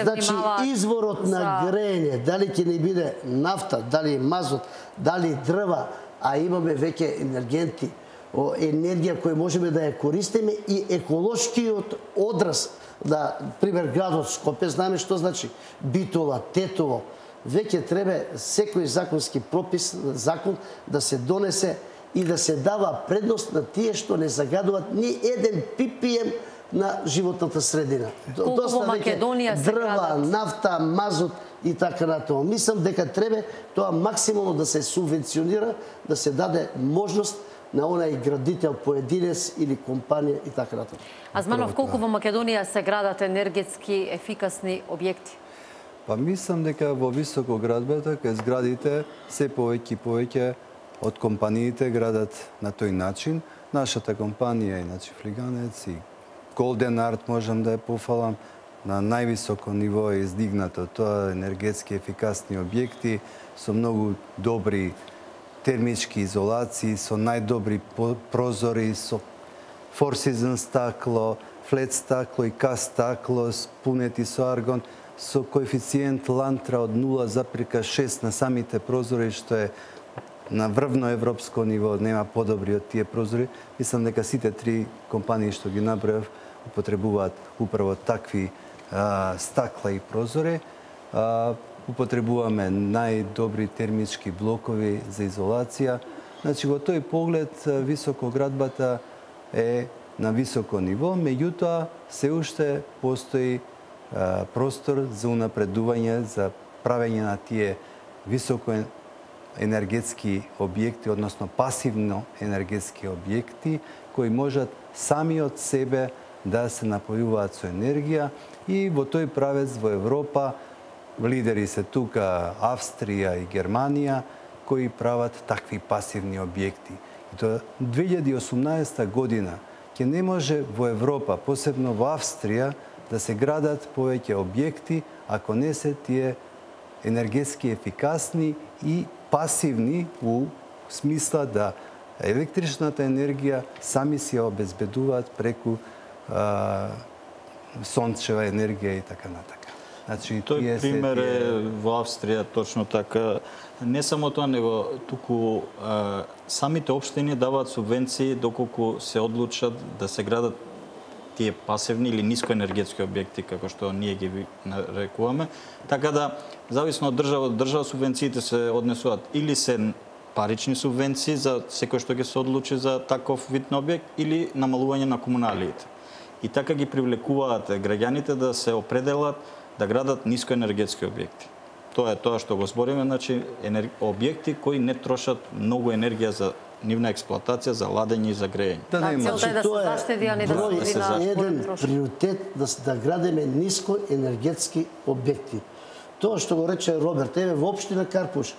Значи, изворот на грење, дали ќе ни биде нафта, дали мазот, дали дрва, а имаме веќе енергенти енергија која можеме да ја користиме и еколошкиот одраз на пример градот Скопје, знаеме што значи Битола, Тетово. Веќе треба секој законски пропис, закон да се донесе и да се дава предност на тие што не загадуваат ни еден пипием на животната средина. Колку во Македонија се дрва, градат? нафта, мазут и така натаму. Мислам дека треба тоа максимално да се субвенционира, да се даде можност на онај градител, поединец или компанија и така натаму. Азманов, колку во Македонија се градат енергетски ефикасни објекти? Па мислам дека во високоградбата кај зградите се повеќе и повеќе од компаниите градат на тој начин. Нашата компанија, иначе Флиганец и Golden Art, можам да ја пофалам, на највисоко ниво е издигнато. Тоа енергетски ефикасни објекти со многу добри термички изолации, со најдобри прозори, со Four Seasons стакло, флет стакло и каст стакло, спунети со аргон, со коефициент лантра од нула запирка шест на самите прозори, што е на врвно европско ниво, нема подобри од тие прозори. Мислам дека сите три компании што ги набројав употребуваат управо такви а, стакла и прозори. А, употребуваме најдобри термички блокови за изолација. Значи, во тој поглед, високоградбата е на високо ниво, меѓутоа се уште постои а, простор за унапредување, за правење на тие високо енергетски објекти, односно пасивно енергетски објекти, кои можат сами од себе да се напојуваат со енергија и во тој правец во Европа лидери се тука Австрија и Германија кои прават такви пасивни објекти. И до две илјади и осумнаесета година ќе не може во Европа, посебно во Австрија, да се градат повеќе објекти ако не се тие енергетски ефикасни и пасивни у смисла да електричната енергија сами си ја обезбедуваат преку а, сончева енергија и така натака. Значи, тој пример е во Австрија точно така. Не само тоа, него туку а, самите општини даваат субвенции доколку се одлучат да се градат тие пасивни или нискоенергетски објекти, како што ние ги нарекуваме. Така да, зависно од држава до држава, субвенциите се однесуваат или се парични субвенции за секој што ќе се одлучи за таков вид на објект, или намалување на комуналиите. И така ги привлекуваат граѓаните да се определат да градат нискоенергетски објекти. Тоа е тоа што го збориме, значи енер... објекти кои не трошат многу енергија за нивна експлоатација, за ладење и за грејење. Да, да, целта е да се заштеди, а не да се на еден приоритет да да градиме нискоенергетски објекти. Тоа што го рече Роберт, еве во општина Карпуш,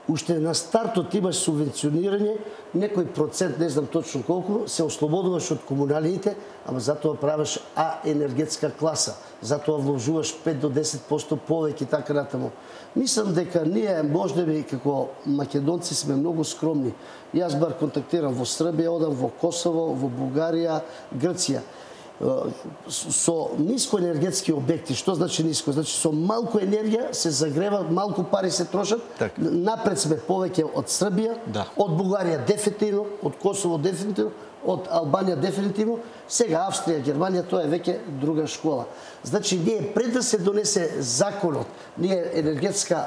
уште на стартот имаш субвенционирање, некој процент, не знам точно колку, се ослободуваш од комуналиите, ама затоа правиш А енергетска класа, затоа вложуваш пет до десет проценти повеќе и така натаму. Мислам дека ние можеби како македонци сме многу скромни. Јас бар контактирам во Србија, одам во Косово, во Бугарија, Грција. Со нискоенергетски објекти, што значи ниско? Значи со малку енергија се загрева, малку пари се трошат. Так. Напред сме повеќе од Србија, да. Од Бугарија дефинитивно, од Косово дефинитивно, од Албанија дефинитивно, сега Австрија, Германија, тоа е веќе друга школа. Значи ние пред да се донесе законот, ние енергетска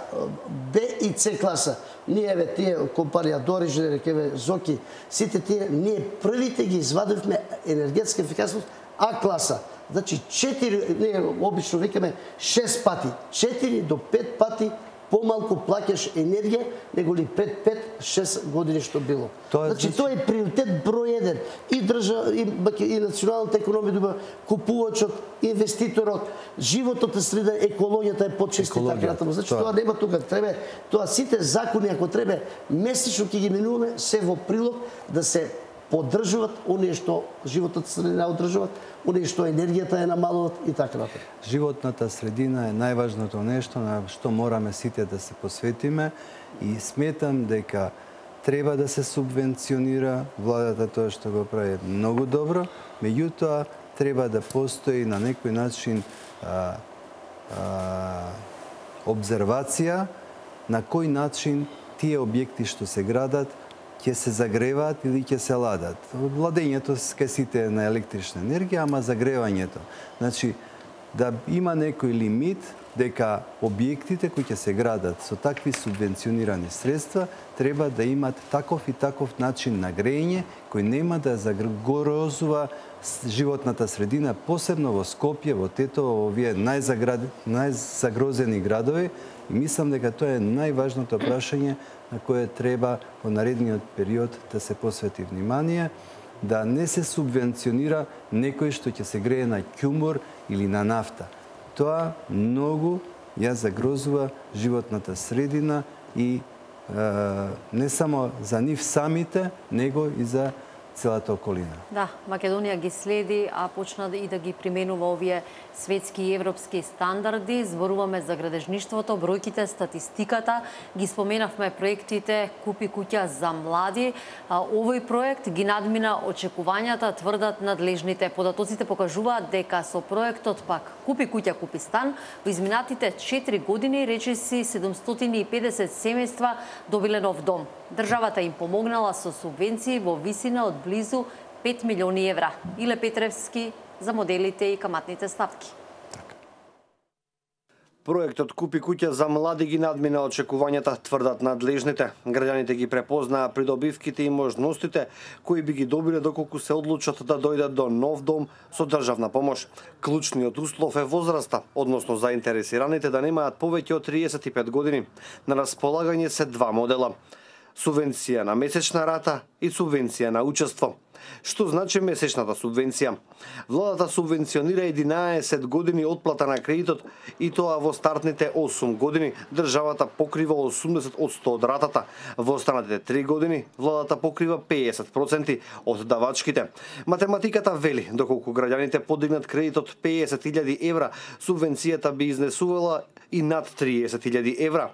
Б и С класа, ние еве тие компанија Дорижнер, еве Зоки, сите тие ние првите ги извадивме енергетска ефикасност А класа. Значи четири, ние обично викаме шест пати, четири до пет пати помалку плаќаш енергија него ли пред пет-шест години што било. Тоа, значи, значи тоа е приоритет број еден. И држава, и, и националната економија доба, купувачот, инвеститорот, животот е среда, екологијата е почести и така натаму. Значи тоа, тоа нема тука. Треба тоа сите закони ако треба месечно ќе ги минуваме се во прилог да се поддржуваат оние што животот средина одржуваат, оние што енергијата е намалуваат и така натаму. Животната средина е најважното нешто на што мораме сите да се посветиме и сметам дека треба да се субвенционира, владата тоа што го прави многу добро, меѓутоа треба да постои на некој начин а, а, обзервација на кој начин тие објекти што се градат ќе се загреваат или ќе се ладат. Ладењето ке сите на електрична енергија, ама загревањето. Значи, да има некој лимит дека објектите кои ќе се градат со такви субвенционирани средства треба да имат таков и таков начин на грејење кој нема да загрозува животната средина, посебно во Скопје, во Тетово, во овие најзагрозени градови. И мислам дека тоа е најважното прашање на кое треба во наредниот период да се посвети внимание, да не се субвенционира некој што ќе се грее на ќумур или на нафта. Тоа многу ја загрозува животната средина и е, не само за нив самите, него и за целата околина. Да, Македонија ги следи, а почна и да ги применува овие светски и европски стандарди. Зборуваме за градежништвото, бројките, статистиката, ги споменавме проектите Купи куќа за млади. Овој проект ги надмина очекувањата, тврдат надлежните. Податоците покажуваат дека со проектот пак Купи куќа, купи стан, во изминатите четири години речиси седумстотини и педесет семејства добиле нов дом. Државата им помогнала со субвенции во висина од близу пет милиони евра. Иле Петревски за моделите и каматните ставки. Проектот Купи куќа за млади ги надмина очекувањата, тврдат надлежните. Граѓаните ги препознаа придобивките и можностите кои би ги добиле доколку се одлучат да дојдат до нов дом со државна помош. Клучниот услов е возраста, односно заинтересираните да немаат повеќе од триесет и пет години. На располагање се два модела: субвенција на месечна рата и субвенција на учество. Што значи месечната субвенција? Владата субвенционира единаесет години отплата на кредитот и тоа во стартните осум години. Државата покрива осумдесет одсто од ратата. Во останатите три години владата покрива педесет проценти од давачките. Математиката вели, доколку граѓаните подигнат кредитот педесет илјади евра, субвенцијата би изнесувала и над триесет илјади евра.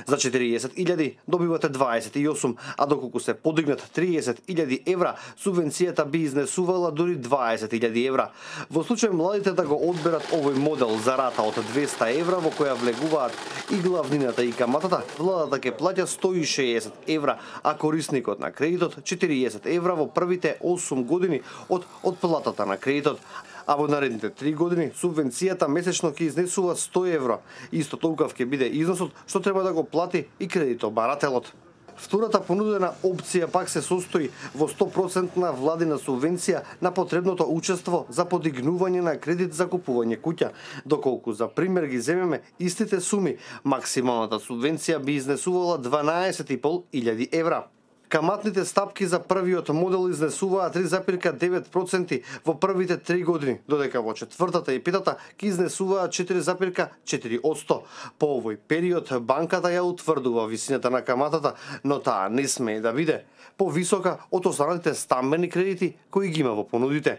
За четириесет илјади добивате дваесет и осум, а доколку се подигнат триесет илјади евра, субвенцијата би изнесувала дури дваесет илјади евра. Во случај младите да го одберат овој модел за рата од двеста евра во која влегуваат и главнината и каматата, владата ќе плаќа сто и шеесет евра, а корисникот на кредитот четириесет евра во првите осум години од отплатата на кредитот. А во наредните три години субвенцијата месечно ќе изнесува сто евра. Исто толков ќе биде износот што треба да го плати и кредитобарателот. Втората понудена опција пак се состои во сто проценти владина субвенција на потребното учество за подигнување на кредит за купување куќа. Доколку за пример ги земеме истите суми, максималната субвенција би изнесувала дванаесет и пол илјади евра. Каматните стапки за првиот модел изнесуваа три запирка девет проценти во првите три години, додека во четвртата и петата ќе изнесуваа четири запирка четири одсто. По овој период банката ја утврдува висината на каматата, но таа не смее да биде повисока од останатите стамбени кредити кои ги има во понудите.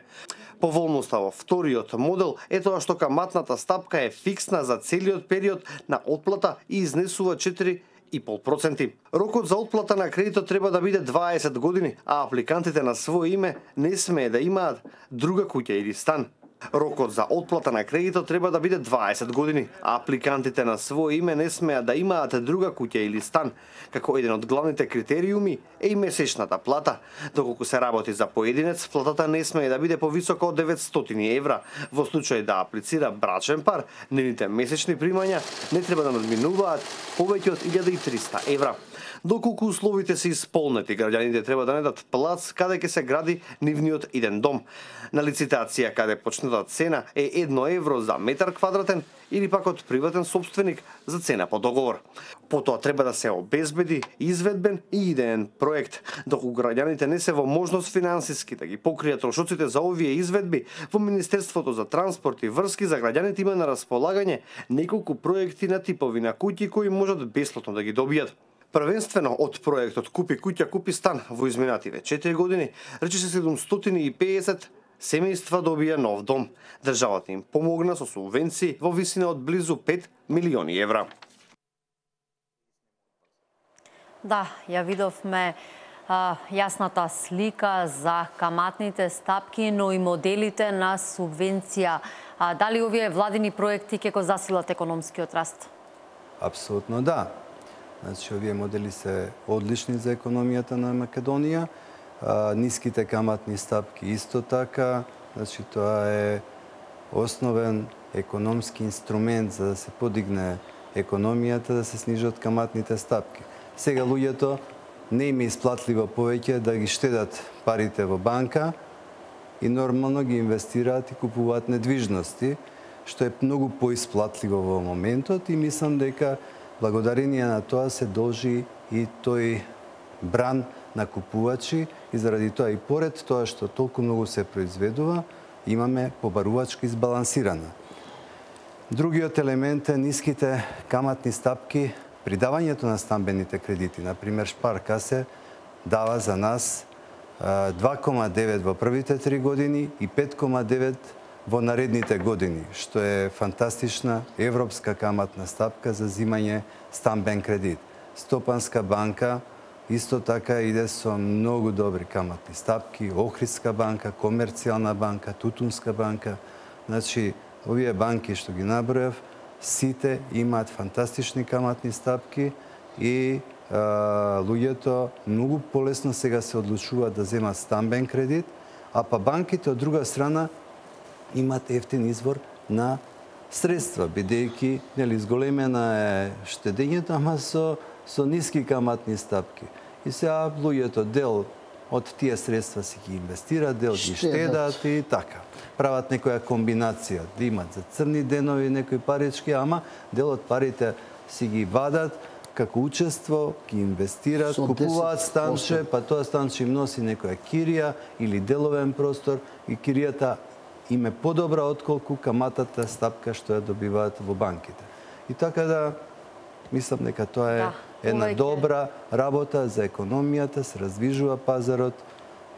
Поволноста во вториот модел е тоа што каматната стапка е фиксна за целиот период на отплата и изнесува четири и пол проценти. Рокот за отплата на кредитот треба да биде дваесет години, а апликантите на своје име не смее да имаат друга куќа или стан. Рокот за отплата на кредитот треба да биде дваесет години, а апликантите на своје име не смеат да имаат друга куќа или стан. Како еден од главните критериуми е и месечната плата. Доколку се работи за поединец, платата не смее да биде повисока од деветстотини евра. Во случај да аплицира брачен пар, нивните месечни примања не треба да надминуваат повеќе од илјада и триста евра. Доколку условите се исполнети, граѓаните треба да најдат плац каде ќе се гради нивниот иден дом. На лицитација каде почнатата цена е едно евро за метар квадратен или пак од приватен собственик за цена по договор. Потоа треба да се обезбеди изведбен и идеен проект. Доколку граѓаните не се во можност финансиски да ги покријат трошоците за овие изведби, во Министерството за транспорт и врски за граѓаните има на располагање неколку проекти на типови на куќи кои можат бесплатно да ги добијат. Првенствено од проектот Купи куќа, купи стан во изминативе четири години, речиси седумстотини и педесет семејства добија нов дом. Државата им помогна со субвенции во висина од близу пет милиони евра. Да, ја видовме а, јасната слика за каматните стапки, но и моделите на субвенција. А, дали овие владини проекти ќе го засилат економскиот раст? Апсолутно да. Значи, овие модели се одлични за економијата на Македонија. А, ниските каматни стапки исто така. Значи, тоа е основен економски инструмент за да се подигне економијата, да се снижат каматните стапки. Сега луѓето не им е исплатливо повеќе да ги штедат парите во банка и нормално ги инвестираат и купуваат недвижности, што е многу поисплатливо во моментот и мислам дека благодарение на тоа се должи и тој бран на купувачи и заради тоа и поред тоа што толку многу се произведува, имаме побарувачка избалансирана. Другиот елемент е ниските каматни стапки при давањето на стамбените кредити. Например, Шпаркасе дава за нас два кома девет во првите три години и пет кома девет во наредните години, што е фантастична европска каматна стапка за зимање стамбен кредит. Стопанска банка исто така иде со многу добри каматни стапки, Охридска банка, Комерцијална банка, Тутунска банка. Значи, овие банки што ги набројав, сите имаат фантастични каматни стапки и а, луѓето многу полесно сега се одлучуваат да земат стамбен кредит, а па банките од друга страна имаат ефтин извор на средства, бидејќи нели зголемена е штедењето, ама со со ниски каматни стапки. И сега луѓето дел од тие средства си ги инвестираат, дел ги штедат и така. Прават некоја комбинација, да имат за црни денови некои парички, ама дел од парите си ги вадат како учество, ги инвестираат, купуваат станче, па тоа станче им носи некоја кирија или деловен простор и киријата им е подобра отколку каматата стапка што ја добиваат во банките. И така да мислам дека тоа е да, една добра работа за економијата, се раздвижува пазарот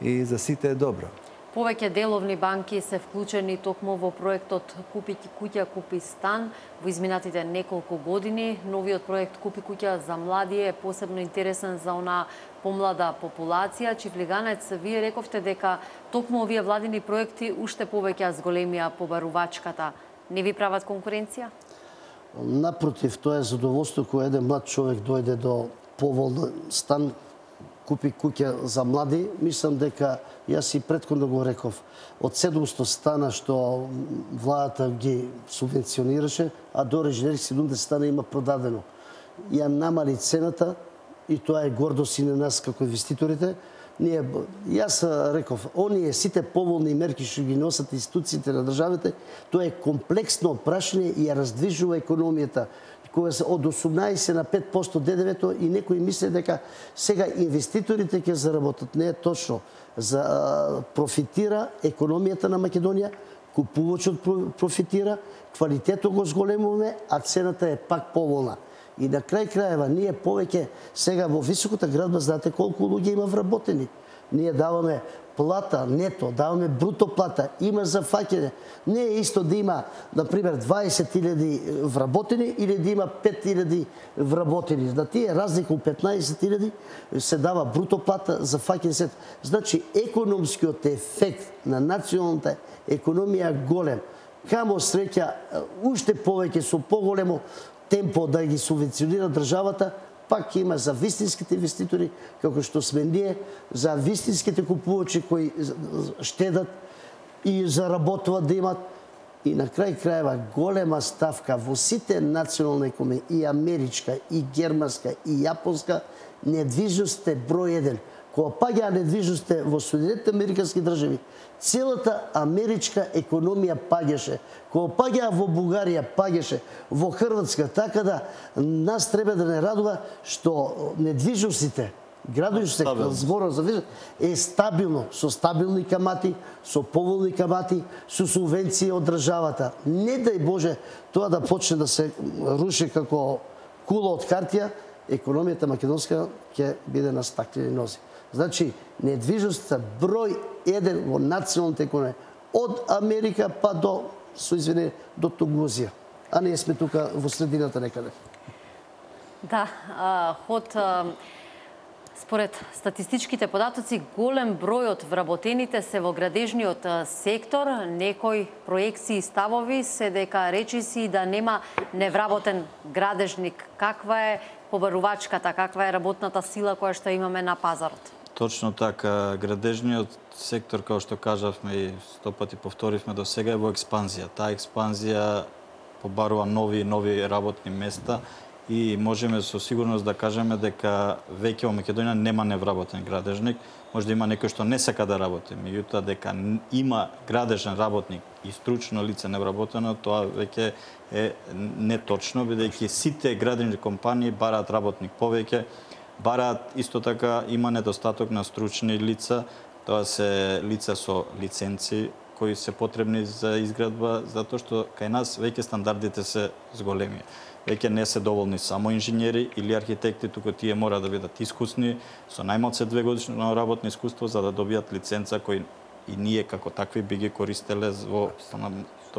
и за сите е добро. Повеќе деловни банки се вклучени токму во проектот Купи куќа, купи стан во изминатите неколку години. Новиот проект Купи куќа за млади е посебно интересен за она помлада популација. Чифлиганец, вие рековте дека токму овие владини проекти уште повеќе зголемија побарувачката. Не ви прават конкуренција? Напротив, тоа е задоволство кога еден млад човек дојде до поволен стан, купи куќа за млади. Мислам дека, јас и претходно го реков, од седумсто стана што владата ги субвенционираше, а до реженерих седумдесет стана има продадено. Ја намали цената и тоа е гордост и на нас како инвеститорите. Ние, јас реков, оние сите поволни мерки што ги носат институциите на државите, тоа е комплексно прашање и ја раздвижува економијата. Кога се од осумнаесет на пет проценти Д Д В-то и некои мисле дека сега инвеститорите ќе заработат. Не е точно. За профитира економијата на Македонија, купувачот профитира, квалитетот го зголемуваме, а цената е пак поволна. И на крај крајева, ние повеќе сега во високата градба, знаете колку луѓе има вработени. Ние даваме плата, нето, даваме бруто плата, има за фаќење. Не е исто да има, например, дваесет илјади вработени или да има пет илјади вработени. На тие разлика од петнаесет илјади се дава бруто плата за фаќење сет. Значи, економскиот ефект на националната економија голем. Камо среќа, уште повеќе со поголемо темпо да ги субвенционира државата, пак има за вистинските инвеститори, како што сме ние, за вистинските купувачи кои штедат и заработуваат да имат. И на крај крајева голема ставка во сите национални економии, и америчка, и германска, и јапонска, недвижност е број еден. Кога паѓаа недвижностите во Соединетите американски држави, целата америчка економија паѓаше. Кога паѓаа во Бугарија, паѓаше, во Хрватска, така да нас треба да не радува што недвижностите, градушите, зборот за недвижност, е стабилно, со стабилни камати, со поволни камати, со субвенции од државата. Не дај Боже тоа да почне да се руши како кула од хартија, економијата македонска ќе биде на стаклени нози. Значи, недвижноста број еден во националната економија, од Америка па до, со извини, до Тугузија. А ние сме тука во средината некаде. Да, а, ход а, Според статистичките податоци, голем број од вработените се во градежниот сектор. Некои проекции и ставови се дека речиси да нема невработен градежник. Каква е побарувачката, каква е работната сила која што имаме на пазарот? Точно така, градежниот сектор, како што кажавме и сто пати повторивме до сега, е во експанзија. Таа експанзија побарува нови и нови работни места и можеме со сигурност да кажеме дека веќе во Македонија нема невработен градежник. Може да има некој што не сака да работи, меѓутоа дека има градежен работник и стручно лице невработено, тоа веќе е неточно, бидејќи сите градежни компании бараат работник повеќе, бараат исто така има недостаток на стручни лица, тоа се лица со лиценци кои се потребни за изградба, затоа што кај нас веќе стандардите се зголеми. Веќе не се доволни само инженери или архитекти, туку тие мора да бидат искусни, со најмалце две годишно работно искуство за да добијат лиценца кои и ние како такви би ги користеле во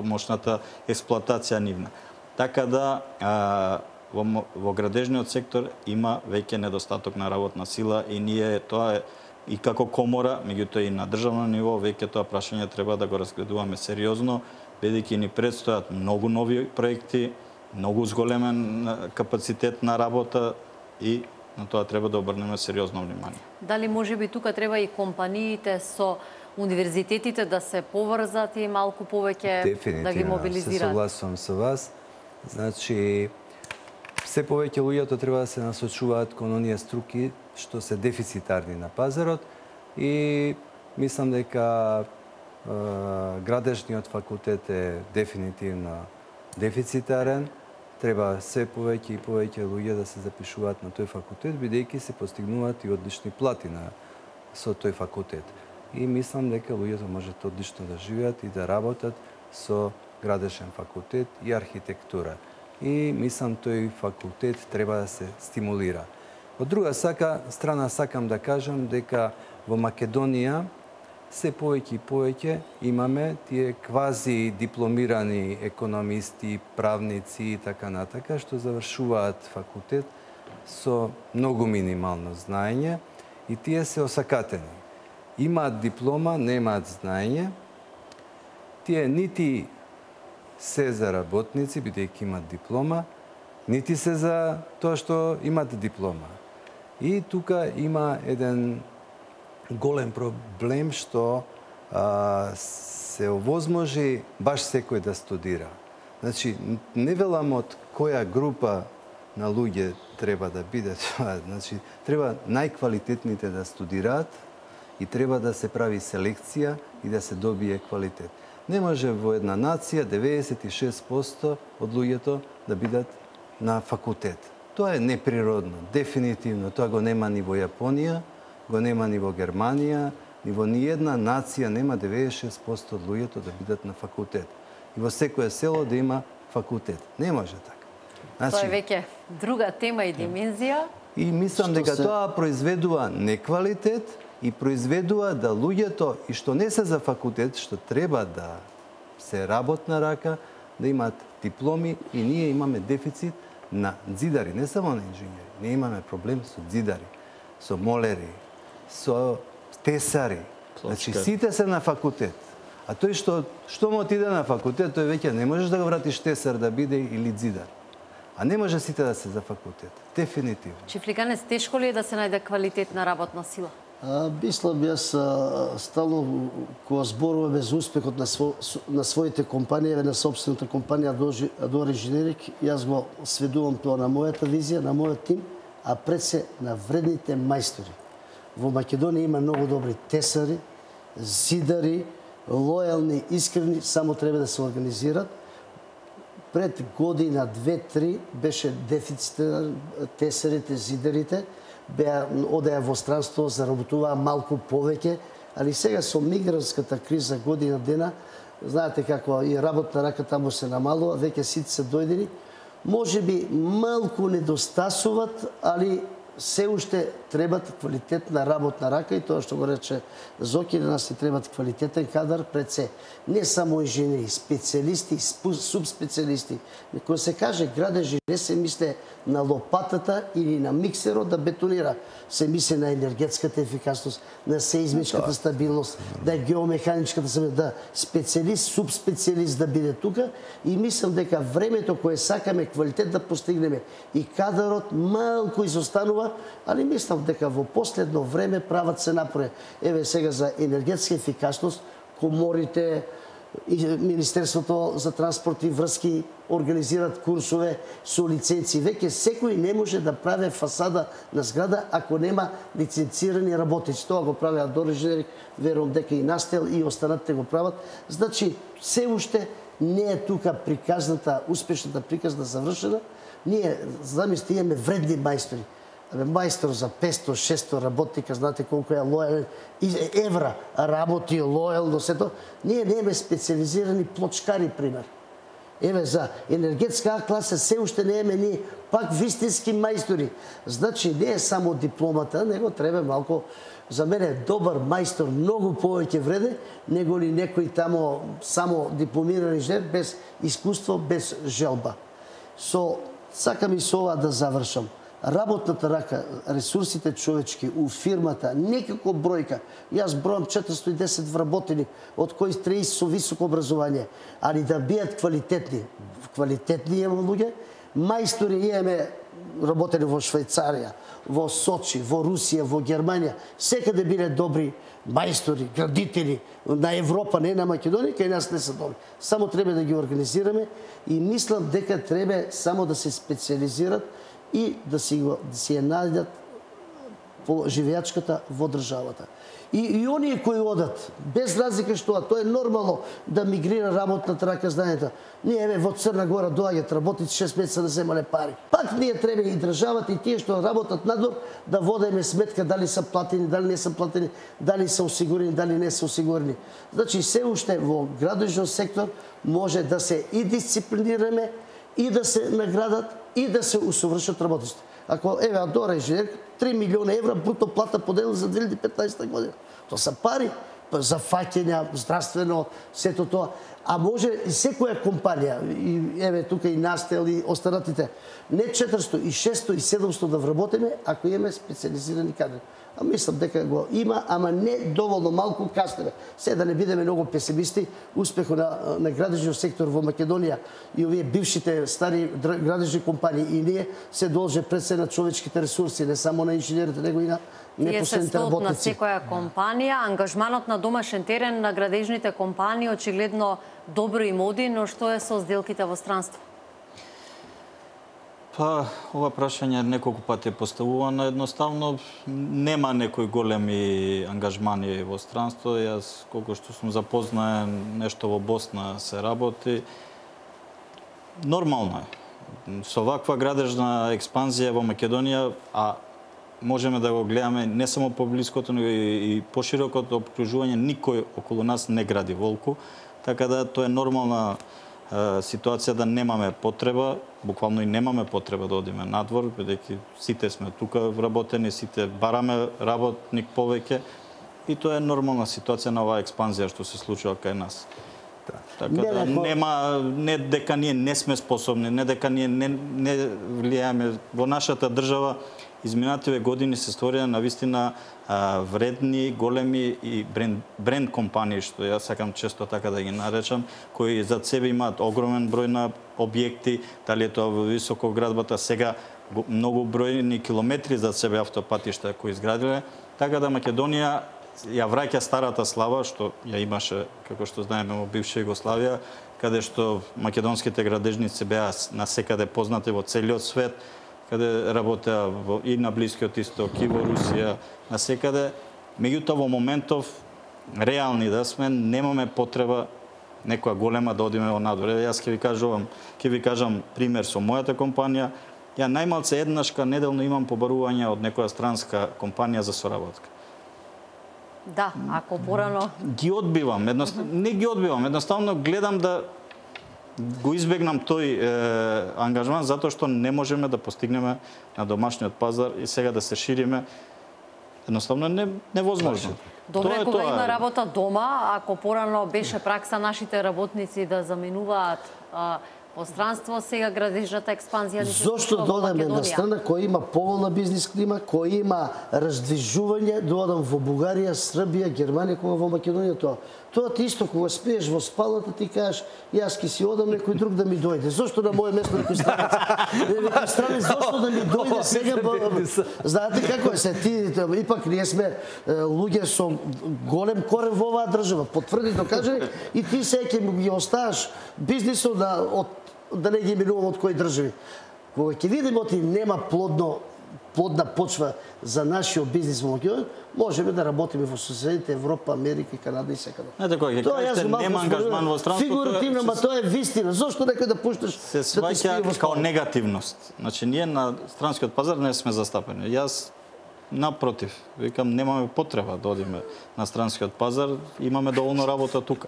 мощната експлоатација нивна. Така да а, во, во градежниот сектор има веќе недостаток на работна сила и ние тоа е и како комора, меѓутоа и на државно ниво, веќе тоа прашање треба да го разгледуваме сериозно, бидејќи ни предстојат многу нови проекти, многу зголемен капацитет на работа и на тоа треба да обрнеме сериозно внимание. Дали може би тука треба и компаниите со универзитетите да се поврзат и малку повеќе да ги мобилизираат? Се согласувам со вас. Значи, се повеќе луѓето треба да се насочуваат кон оние струки што се дефицитарни на пазарот и мислам дека е, градежниот факултет е дефинитивно дефицитарен. Треба се повеќе и повеќе луѓе да се запишуваат на тој факултет, бидејќи се постигнуваат и одлични плати на со тој факултет. И мислам дека луѓето можат одлично да живеат и да работат со градежен факултет и архитектура. И мислам тој факултет треба да се стимулира. Од друга сака, страна сакам да кажам дека во Македонија се повеќе и повеќе имаме тие квази дипломирани економисти, правници и така натака, што завршуваат факултет со многу минимално знаење и тие се осакатени. Имаат диплома, немаат знаење. Тие нити се за работници, бидејќи имаат диплома, нити се за тоа што имаат диплома. И тука има еден голем проблем што а, се овозможи баш секој да студира. Значи, не велам од која група на луѓе треба да биде тоа. Значи, треба најквалитетните да студираат и треба да се прави селекција и да се добие квалитет. Не може во една нација деветдесет и шест проценти од луѓето да бидат на факултет. Тоа е неприродно, дефинитивно. Тоа го нема ни во Јапонија, го нема ни во Германија, ни во ниедна нација нема деветдесет и шест проценти од луѓето да бидат на факултет. И во секое село да има факултет. Не може така. Значи, тоа е веќе друга тема и димензија. И мислам дека се... тоа произведува неквалитет и произведува да луѓето и што не се за факултет, што треба да се работна рака, да имаат дипломи и ние имаме дефицит на ѕидари, не само на инженери. Ние имаме проблем со ѕидари, со молери, со тесари. Значи, сите се на факултет. А тој што, што му отиде на факултет, тој веќе не можеш да го вратиш тесар да биде или ѕидар. А не може сите да се за факултет. Дефинитивно. Чифликанец, тешко ли е да се најде квалитетна работна сила? А, мислам, јас стално кога зборуваме за успехот на, сво, на своите компании, на собствената компанија Адори Инженерик, јас го сведувам тоа на мојата визија, на мојот тим, а пред се на вредните мајстори. Во Македонија има многу добри тесари, зидари, лојални, искрени, само треба да се организираат. Пред година, две-три, беше дефицит тесарите, зидарите, беа одеа во странство, заработуваа малку повеќе, али сега со мигрантската криза година дена, знаете како и работна рака таму се намалува, веќе сите се дојдени, може би малку недостасуваат, али се уште требат квалитетна работна рака и тоа што го рече Зоки, да нас ни требат квалитетен кадар пред се. Не само инженери, специјалисти, субспецијалисти. Кога се каже градеж, не се мисле на лопатата или на миксерот да бетонира. Се мисли на енергетската ефикасност, на сеизмичката стабилност, да е геомеханичката стабилност, да специјалист, субспецијалист да биде тука и мислам дека времето кое сакаме квалитет да постигнеме и кадарот малку изостанува, али мислам дека во последно време прават се напоре. Еве сега за енергетска ефикасност, коморите, и Министерството за транспорт и врски организираат курсове со лиценци. Веќе секој не може да прави фасада на зграда ако нема лиценцирани работници. Тоа го правеа дорежери, верувам дека и Настел и останатите го прават. Значи, се уште не е тука приказната, успешната приказна завршена. Ние, замисли, имаме вредни мајстори. Мајстор за петсто шестсто работника, знаете колку е лојален, евра работи лојално сето. Ние немаме специализирани плочкари, пример. Еве, за енергетска А класа се уште немаме ние пак вистински мајстори. Значи, не е само дипломата, него треба малку, за мене е добар мајстор, многу повеќе вреде, него ли некој тамо само дипломиран инженер, без искуство, без желба. Со, сакам и со ова да завршам. Работната рака, ресурсите човечки у фирмата, некако бројка. Јас бројам четиристо и десет вработени, од кои триесет со високо образование, али да бијат квалитетни. Квалитетни имаме луѓе, мајстори имаме работени во Швајцарија, во Сочи, во Русија, во Германија, секаде биле добри мајстори, градители на Европа, не на Македонија, кај нас не се добри. Само треба да ги организираме и мислам дека треба само да се специализират и да си, го, да си ја најдат по живеачката во државата. И, и оние кои одат, без разлика што, тоа е нормално да мигрира работната рака, знаете. Ние еве во Црна Гора доаѓаат работници шест месеца да земале пари. Пак ние треба и државата и тие што работат надвор да водиме сметка дали се платени, дали не се платени, дали се осигурени, дали не се осигурени. Значи се уште во градежниот сектор може да се и дисциплинираме, и да се наградат, и да се усовршат работниците. Ако, еве, Адора инженер, три милиона евра бруто плата поделил за две илјади и петнаесета година. Тоа се пари за фаќења, здравствено, сето тоа. А може и секоја компанија, и еве тука и Настел и останатите, не четиристо, и шестсто, и седумсто да вработиме, ако имаме специализирани кадри. А мислам дека го има, ама не доволно малку каснеме. Се да не бидеме многу песимисти, успехот на, на градежниот сектор во Македонија и овие бившите стари градежни компании и ние се должи пред се на човечките ресурси, не само на инженерите, него и на непосредните работници. Тие се на секоја компанија, ангажманот на домашен терен на градежните компании очигледно добро им оди, но што е со сделките во странство? Па, ова прашање неколку пати е поставувано. Едноставно, нема некои големи ангажмани во странство. Јас, колку што сум запознаен, нешто во Босна се работи. Нормално е. Со ваква градежна експанзија во Македонија, а можеме да го гледаме не само по блиското, но и поширокото обкружување, никој околу нас не гради волку. Така да, тоа е нормална ситуација да немаме потреба, буквално и немаме потреба да одиме надвор, бидејќи сите сме тука вработени, сите бараме работник повеќе и тоа е нормална ситуација на оваа експанзија што се случува кај нас. Да. Така да нема, не дека ние не сме способни, не дека ние не, не влијаеме во нашата држава. Изминативе години се створија навистина вредни, големи и бренд, бренд компании, што јас сакам често така да ги наречам, кои зад себе имаат огромен број на објекти, дали е тоа во високоградбата, сега многу бројни километри зад себе автопатишта кои изградиле, така да Македонија ја враќа старата слава што ја имаше, како што знаеме, во бивша Југославија, каде што македонските градежници беа насекаде познати во целиот свет, каде работеа и на Блискиот Исток, и во Русија, насекаде. Меѓутоа, во моментов, реални да сме, немаме потреба некоја голема да одиме во надвор. Јас ќе ви кажувам, ќе ви кажам пример со мојата компанија. Ја најмалце еднашка неделно имам побарување од некоја странска компанија за соработка. Да, ако порано... Ги одбивам, едноставно, не ги одбивам, едноставно гледам да го избегнам тој е, ангажман затоа што не можеме да постигнеме на домашниот пазар и сега да се шириме. Едноставно не невозможно. Добре, кога има работа дома, ако порано беше пракса нашите работници да заменуваат а, пространство, сега градежната експанзија ни се Зошто додаме на страна која има поволна бизнис клима, која има раздвижување, додам во Бугарија, Србија, Германија, кога во Македонија тоа. Тоа ти исто кога спиеш во спалната ти кажеш јас ки си одам, некој друг да ми дојде. Зошто на моје место некој странец? Некој странец зошто да ми дојде сега? Знаете како е се ти, ипак ние сме луѓе со голем корен во оваа држава. Потврди, докаже и ти сега ќе ги оставаш бизнисот да од да не ги минувам од кои држави. Кога ќе видиме оти нема плодно плодна почва за нашиот бизнис во Македонија, можеме да работиме во соседите Европа, Америка, Канада и секаде. Знаете кога ќе кажете нема ангажман во странството, фигуративно, ма тоа е вистина. Зошто некој да пушташ се сваќа као негативност. Значи ние на странскиот пазар не сме застапени. Јас напротив, викам немаме потреба да одиме на странскиот пазар, имаме доволно работа тука.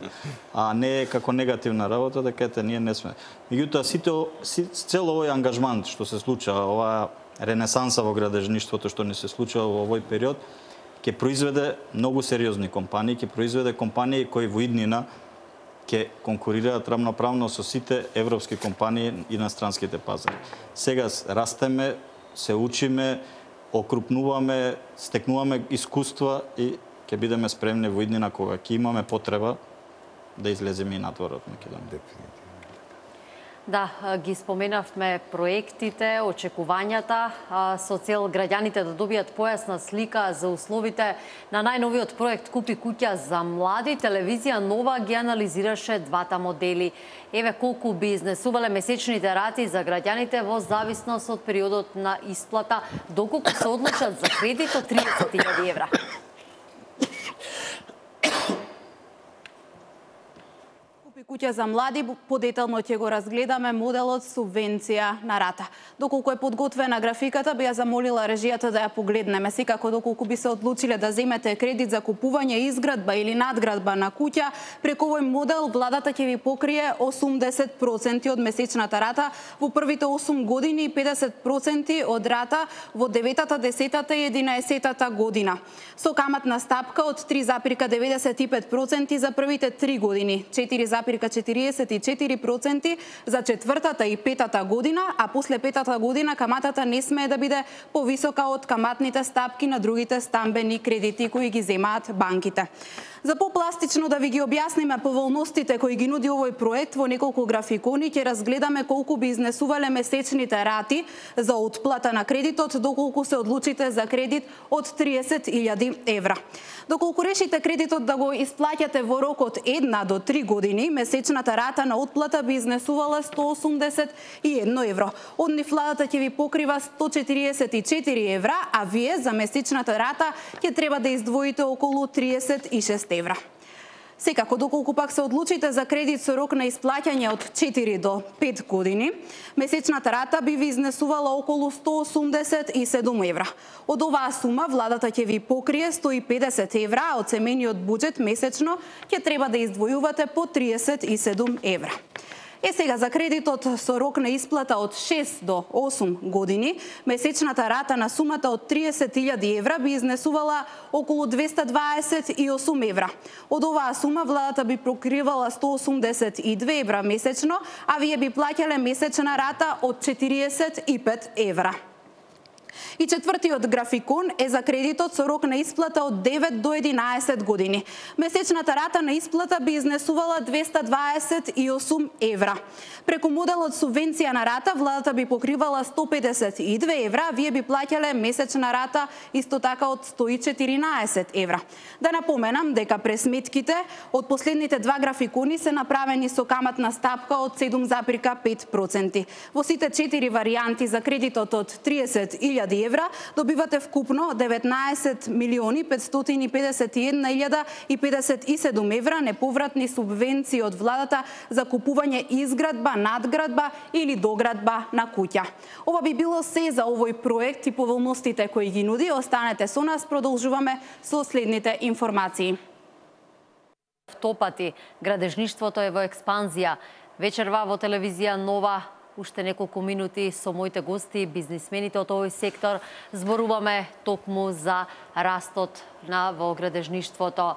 А не како негативна работа да кажете ние не сме. Меѓутоа сите цел овој ангажман што се случува, оваа ренесанса во градежништвото што ни се случува во овој период, ќе произведе многу сериозни компании, ќе произведе компании кои во иднина ќе конкурираат рамноправно со сите европски компании и на странските пазари. Сега растеме, се учиме, окрупнуваме, стекнуваме искуства и ќе бидеме спремни во иднина кога ќе имаме потреба да излеземе и надвор од Македонија. Да, ги споменавме проектите, очекувањата со цел граѓаните да добијат појасна слика за условите на најновиот проект Купи куќа за млади. Телевизија Нова ги анализираше двата модели. Еве колку би изнесувале месечните рати за граѓаните во зависност од периодот на исплата, доколку се одлучат за кредит од триесет илјади евра. Куќа за млади, подетално ќе го разгледаме моделот субвенција на рата. Доколку е подготвена графиката, би ја замолила режијата да ја погледнеме. Секако доколку би се одлучиле да земете кредит за купување, изградба или надградба на куќа, преку овој модел владата ќе ви покрие осумдесет проценти од месечната рата во првите осум години и педесет проценти од рата во деветата, десетата и единаесетата година. Со каматна стапка од три запирка деветдесет и пет проценти за првите три години, четири запирка четириесет и четири проценти за четвртата и петата година, а после петата година каматата не смее да биде повисока од каматните стапки на другите стамбени кредити кои ги земаат банките. За попластично да ви ги објасниме поволностите кои ги нуди овој проект во неколку графикони, ќе разгледаме колку би изнесувале месечните рати за отплата на кредитот доколку се одлучите за кредит од триесет илјади евра. Доколку решите кредитот да го исплаќате во рок од една до три години, месечната рата на отплата би изнесувала сто осумдесет и едно евро. Од нив владата ќе ви покрива сто четириесет и четири евра, а вие за месечната рата ќе треба да издвоите околу триесет и шест евра. Секако, доколку пак се одлучите за кредит со рок на исплаќање од четири до пет години, месечната рата би ви изнесувала околу сто осумдесет и седум евра. Од оваа сума владата ќе ви покрие сто и педесет евра, а од семејниот буџет месечно ќе треба да издвојувате по триесет и седум евра. Е сега за кредитот со рок на исплата од шест до осум години, месечната рата на сумата од триесет илјади евра би изнесувала околу двесте дваесет и осум евра. Од оваа сума владата би покривала сто осумдесет и две евра месечно, а вие би плаќале месечна рата од четириесет и пет евра. И четвртиот графикон е за кредитот со рок на исплата од девет до единаесет години. Месечната рата на исплата би изнесувала двесте дваесет и осум евра. Преку моделот субвенција на рата владата би покривала сто педесет и две евра, а вие би плаќале месечна рата исто така од сто и четиринаесет евра. Да напоменам дека пресметките од последните два графикони се направени со каматна стапка од седум запирка пет проценти. Во сите четири варијанти за кредитот од триесет илјади евра добивате вкупно деветнаесет милиони петстотини педесет и една илјада и педесет и седум евра неповратни субвенции од владата за купување, изградба, надградба или доградба на куќа. Ова би било се за овој проект и поволностите кои ги нуди. Останете со нас, продолжуваме со следните информации. Втопати градежништвото е во експанзија. Вечерва во телевизија Нова, уште неколку минути со моите гости, бизнисмените од овој сектор, зборуваме токму за растот на во градежништвото.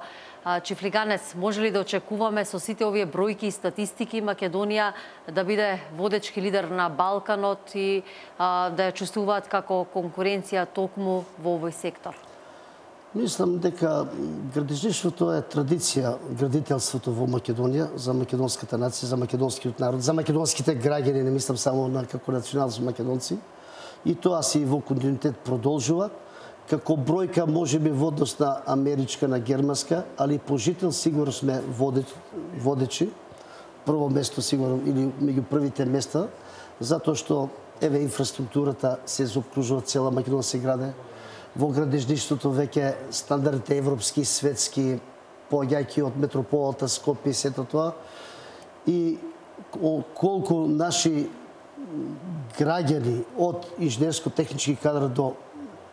Чифлиганец, може ли да очекуваме со сите овие бројки и статистики Македонија да биде водечки лидер на Балканот и а, да ја чувствуваат како конкуренција токму во овој сектор? Мислам дека градежништвото е традиција, градителството во Македонија, за македонската нација, за македонскиот народ, за македонските граѓани, не мислам само на како национални македонци. И тоа си во континуитет продолжува. Како бројка може би во однос на америчка, на германска, али по жител сигурно сме водечи. Прво место сигурно или меѓу првите места, затоа што еве инфраструктурата се заокружува, цела Македонија се граде. Во градежништвото веќе стандардите европски, светски, поаѓајќи од метрополата Скопје и сето тоа. И колку наши граѓани од инженерско-технички кадар до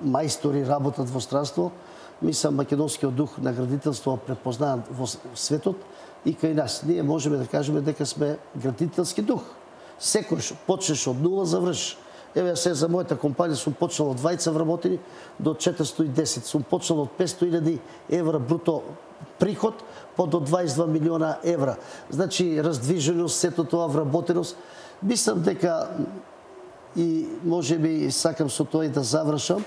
мајстори работат во странство, мислам македонскиот дух на градителство препознаат во светот и кај нас. Ние можеме да кажеме дека сме градителски дух. Секојаш почнеш од нула, завршиш. Еве се за мојата компанија сум почнал од двајца вработени до четиристотини и десет. Сум почнал од петстотини илјади евра бруто приход по до дваесет и два милиона евра. Значи раздвиженост, сето тоа вработеност. Мислам дека и може би сакам со тоа и да завршам,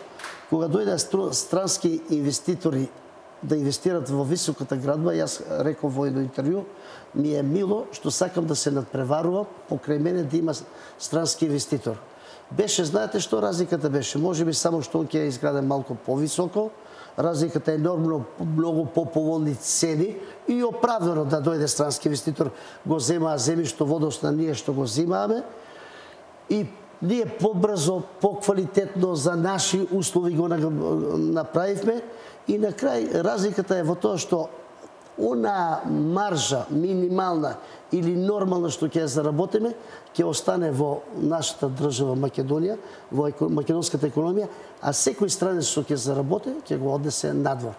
кога дојде странски инвеститори да инвестират во високата градба, јас реков во едно интервју, ми е мило што сакам да се надпреварувам покрај мене да има странски инвеститор. Беше, знаете што разликата беше? Може би само што он ќе изграде малку повисоко, разликата е нормално многу поповолни цени и оправдано да дојде странски инвеститор, го земаа земјишто во однос на ние што го земааме и ние побрзо, поквалитетно за наши услови го направивме и на крај разликата е во тоа што она маржа минимална или нормална што ќе заработиме, ќе остане во нашата држава Македонија, во македонската економија, а секој странец што ќе заработи, ќе го однесе надвор.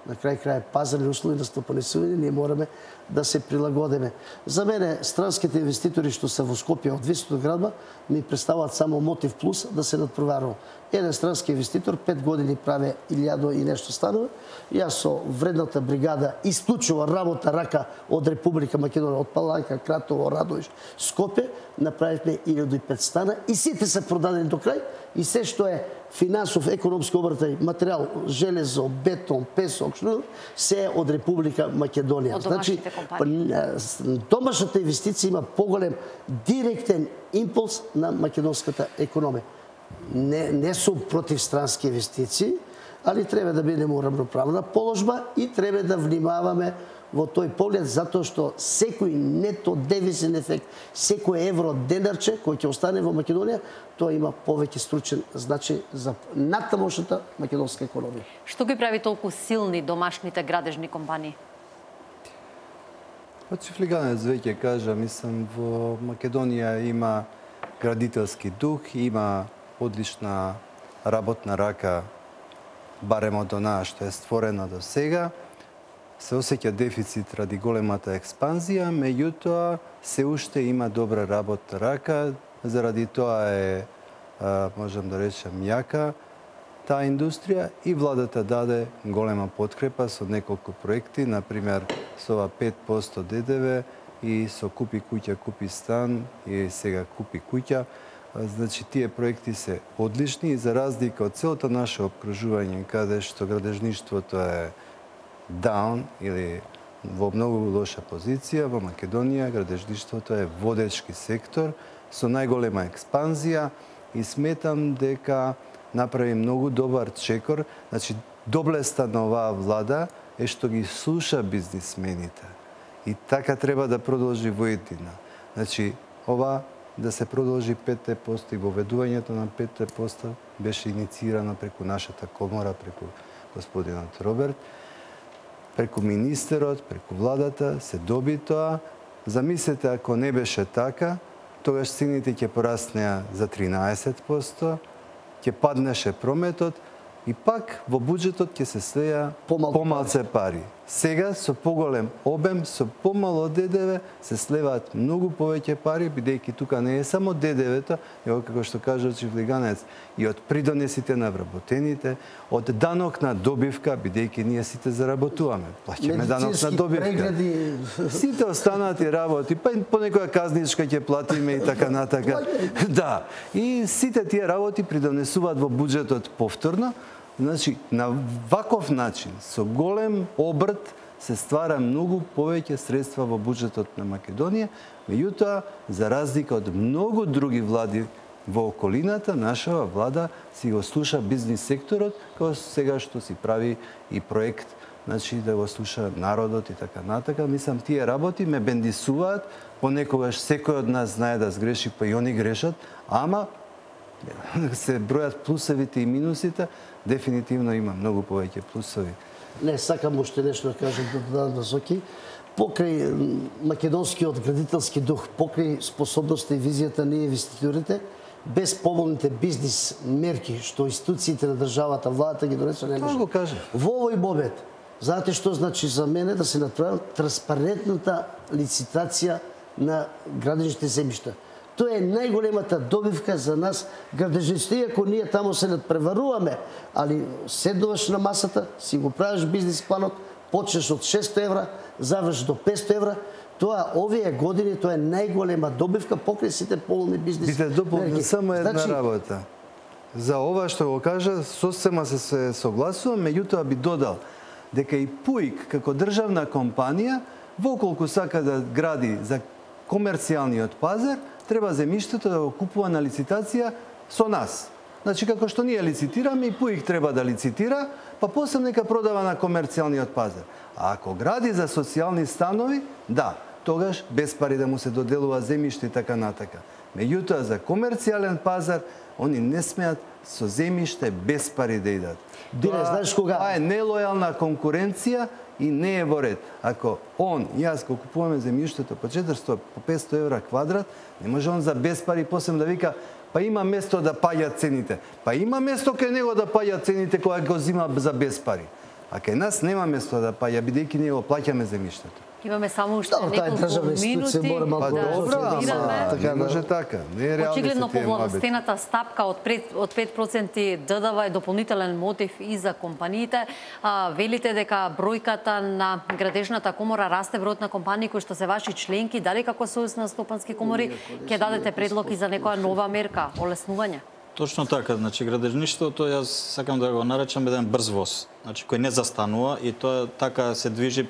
На крај крај пазарни услови на стопанисување, ние мораме да се прилагодиме. За мене странските инвеститори што се во Скопје од високата градба ми представуваат само мотив плюс да се надпреварува. Еден странски инвеститор пет години праве илјада и нешто станови. Јас со вредната бригада исклучува работна рака од Република Македонија, од Паланка, Кратово, Радовиш, Скопје, направивме илјада и петстотини стана и сите се продадени до крај и се што е финансов, економски обртај, материјал, железо, бетон, песок, што се е од Република Македонија. Од домашните компании. Домашната инвестиција има поголем директен импулс на македонската економија. Не, не сум против странски инвестиции, али треба да бидеме уравноправна положба и треба да внимаваме во тој поглед, затоа што секој нето девизен ефект, секој евро денарче кој ќе остане во Македонија, тоа има повеќе стручен значај за натамошната македонска економија. Што ги прави толку силни домашните градежни компании? Од Чифлиганец веќе кажа, мислам, во Македонија има градителски дух, има одлична работна рака, барем од онаа што е створена до сега. Се осеќа дефицит ради големата експанзија, меѓутоа се уште има добра работна рака, заради тоа е, можам да речем, јака таа индустрија и владата даде голема подкрепа со неколку проекти, например со ова пет проценти ДДВ и со Купи куќа, купи стан и сега Купи куќа. Значи, тие проекти се одлични и за разлика од целото наше обкружување, каде што градежништвото е даун или во многу лоша позиција, во Македонија градежништвото е водечки сектор со најголема експанзија и сметам дека направи многу добар чекор. Значи, доблеста на оваа влада е што ги слуша бизнисмените. И така треба да продолжи во иднина. Значи, ова да се продолжи пет проценти и воведувањето на пет проценти беше инициирано преку нашата комора, преку господинот Роберт, преку министерот, преку владата, се доби тоа. Замислете, ако не беше така, тогаш цените ќе пораснеа за тринаесет проценти, ќе паднеше прометот и пак во буџетот ќе се слеја помалце пари. Сега со поголем обем, со помало Д Д В се слеваат многу повеќе пари, бидејќи тука не е само Д Д В-то, него како што кажа Чифлиганец, и од придонесите на вработените, од данок на добивка, бидејќи ние сите заработуваме, плаќаме данок на добивка. Прегледи... Сите останати работи, па по некоја казничка ќе платиме и така натака. Да, и сите тие работи придонесуваат во буџетот повторно. Значи, на ваков начин, со голем обрт, се ствара многу повеќе средства во буџетот на Македонија, меѓутоа, за разлика од многу други влади во околината, нашава влада си го слуша бизнис секторот, како сега што си прави и проект, значи да го слуша народот и така натака. Мислам, тие работи ме бендисуваат, понекогаш секој од нас знае да сгреши, па и они грешат, ама се бројат плусевите и минусите, дефинитивно има многу повеќе плусови. Не, сакам уште нешто да кажам да додадам на Зоки. Покрај македонскиот градителски дух, покрај способноста и визијата на инвеститорите, без помалните бизнис мерки што институциите на државата, владата ги донесува, не може. Тоа го кажа. Во овој момент, знаете што значи за мене да се направи транспарентната лицитација на градежните земјишта. Тоа е најголемата добивка за нас градежниците. Иако ние таму се надпреваруваме, али седнуваш на масата, си го правиш бизнис планот, почнеш од шесто евра, завршиш до петсто евра, тоа овие години тоа е најголема добивка покрај сите полни бизнес. Бите дополнам само една значи... работа. За ова што го кажа, сосема се, се согласувам, меѓутоа би додал дека и ПУИК како државна компанија, воколку сака да гради за комерцијалниот пазар, треба земјиштето да го купува на лицитација со нас. Значи, како што ние лицитираме, и ПУИК треба да лицитира, па после нека продава на комерцијалниот пазар. А ако гради за социјални станови, да, тогаш без пари да му се доделува земјиште и така натака. Меѓутоа, за комерцијален пазар, они не смеат со земјиште без пари да идат. Биле, знаеш кога? Това е нелојална конкуренција и не е во ред. Ако он и јас го купуваме земјиштето по четиристо, по петсто евра квадрат, не може он за без пари после да вика па има место да паѓат цените. Па има место кај него да паѓат цените кога го зима за без пари. А кај нас нема место да паѓа, бидејќи ние го плаќаме земјиштето. Имаме само уште да, неколку минути па, да добра, разбираме. Така, не може така. Не е реално. Очигледно повладостената стапка од од пет проценти Д Д В е дополнителен мотив и за компаниите. А, велите дека бројката на градежната комора расте, бројот на компании кои што се ваши членки, дали како Сојуз на стопански комори ќе дадете предлог и за некоја нова мерка, олеснување? Точно така, значи градежништвото јас сакам да го наречам еден брз воз, значи кој не застанува и тоа така се движи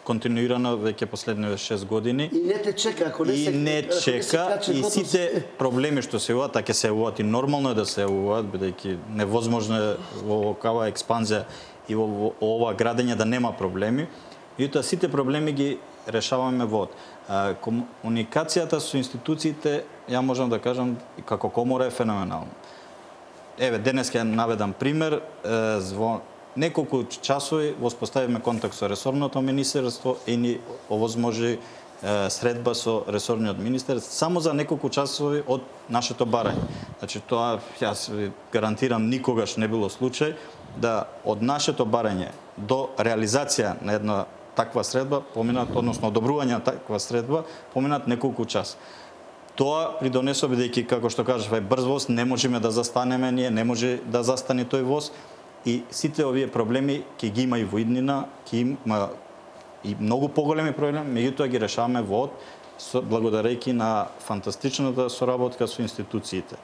континуирано веќе последните шест години. И не те чека, ако не се И не чека, и сите проблеми што се јавуваат, така се јавуваат и нормално е да се јавуваат, бидејќи невозможно е во оваква експанзија и во ова градење да нема проблеми. И тоа сите проблеми ги решаваме во комуникацијата со институциите, ја можам да кажам, како комора е феноменална. Еве, денес ќе наведам пример, во неколку часови воспоставивме контакт со ресорното министерство и ни овозможи средба со ресорниот министер само за неколку часови од нашето барање. Значи тоа јас ви гарантирам никогаш не било случај да од нашето барање до реализација на една таква средба поминат, односно одобрување на таква средба поминат неколку часа. Тоа придонесува, бидејќи како што кажав, е брз воз, не можеме да застанеме ние, не може да застане тој воз. И сите овие проблеми ќе ги има и во иднина, ќе има и многу поголеми проблеми, меѓутоа ги решаваме во од, благодарејќи на фантастичната соработка со институциите.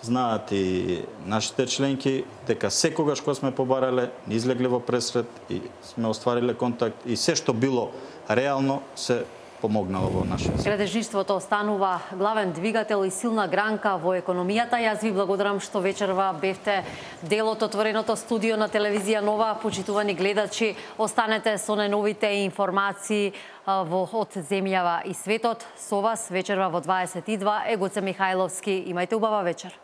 Знаат и нашите членки дека секогаш кога сме побарале, не излегле во пресред и сме оствариле контакт и се што било реално се помогнало во нашиот свет. Градежништвото останува главен двигател и силна гранка во економијата. Јас ви благодарам што вечерва бевте дел од отвореното студио на телевизија Нова. Почитувани гледачи, останете со најновите информации во од земјава и светот. Со вас вечерва во дваесет и два е Гоце Михајловски. Имајте убава вечер.